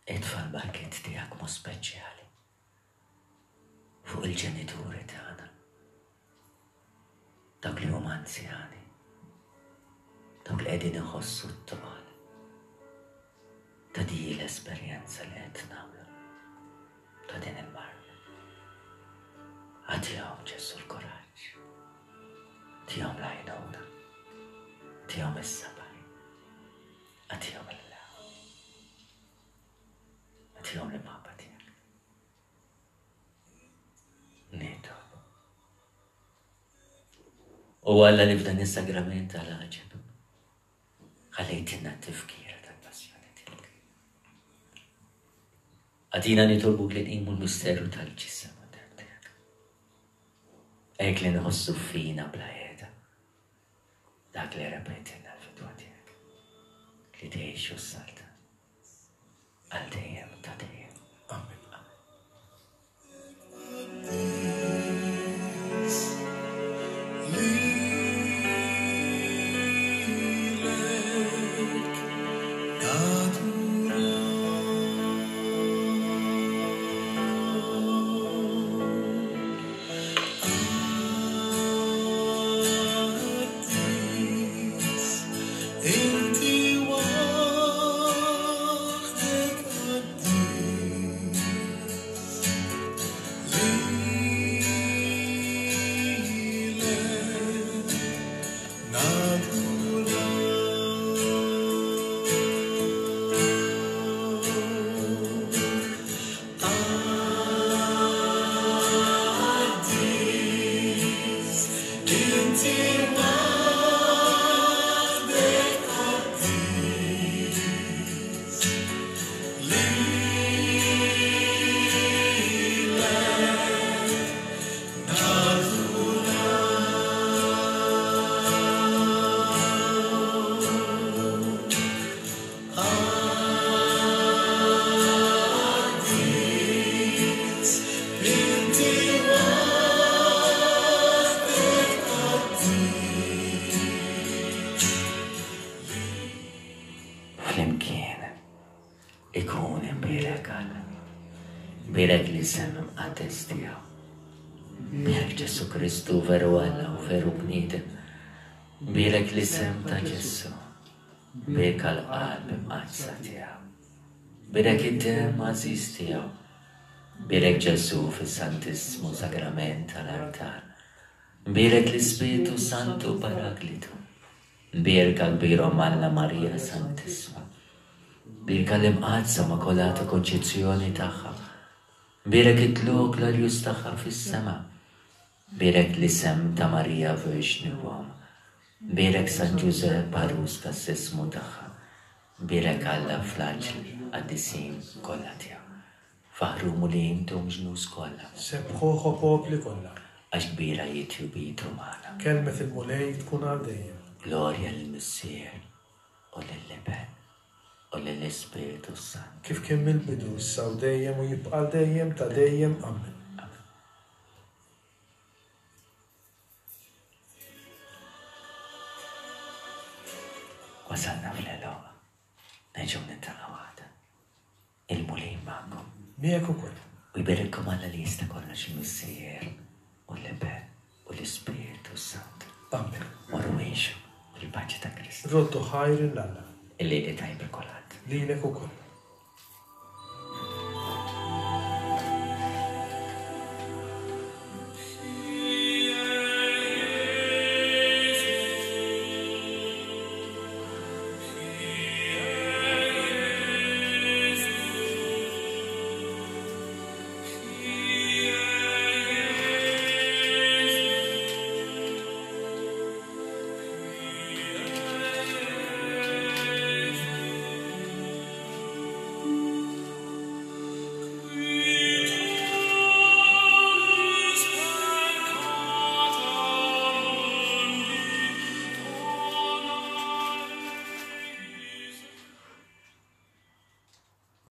Itfa' l-barkiet tiegħek mod speċjali fuq il-ġenituri tagħna, dawk li huma anzjani, dawk li qegħdin iħossu t-toqol ta' di l-esperjenza li qed nagħmlu ta' din il-marda. Agħtihom Ġesù l-kuraġġ, tihom l-għajnuna, tihom is-sabar, agħtihom il-qawwa, agħtihom l-imħabba tiegħek. Nitolbu. U Alla li f'dan is-sagrament tal-għaġeb ħallejtilna t-tifkira tal-passjoni tiegħek. Għatina nitolbuk li nqimu l-misteru tal-ġisem u d-demm tiegħek. Hekk li nħossu fina bla qiegħda dak li rebħitilna l-fidwa tiegħek li tgħix u ssaltan għal dejjem ta' dejjem. Amen. Lilek naduraw. Qaddis, inti waħdek qaddis. Lilek naduraw. Flimkien ikun imbierek Alla. Bierek l-isem imqaddes tiegħu. Bierek Ġesù Kristu veru Alla u veru bniedem. Bierek l-isem ta' Ġesù. Bierka l-qalb imqaddsa tiegħu. Bierek id-demm għażiż tiegħu. Bierek Ġesù fis-Santissmu Sagrament tal-artal. Bierek l-Ispirtu Santu Paraklitu. Bierka kbir Omm Alla Marija Santissma. Bierka l-Imqaddsa Makulata Konċizzjoni tagħha. Bierek it-tlugħ glorjuż tagħha fis-sema. Bierek l-isem ta' Marija Verġni u Omm. Bierek San Ġużepp għarus tas-sismu tagħha. Bierek Alla fl-anġli qaddisin kollha tiegħu. Faħħru Mulej intom ġnus kollha. Sebbħuh o popli kollha. Għax kbira hi tjubitu magħna. Kelmet il-Mulej tkun għal dejjem. Glorja lill-Missier, u lill-Iben, u lill-Ispirtu s-Santu. Kif kien mill-bidu, issa u dejjem u jibqa' għal dejjem ta' dejjem. Amen. Amen. Wasalna fl-għeluq. Nerġgħu niltaqgħu għada. Il-Mulej magħkom. Miegħek ukoll. U jberikkom Alla li jista' kollox il-Missier u l-Iben u l-Ispirtu s-Santu. Amen. Morru għixu fil-paċi ta' Kristu. Roddu ħajr 'il Alla. Il-lejl it-tajjeb lil kulħadd. Lilek ukoll.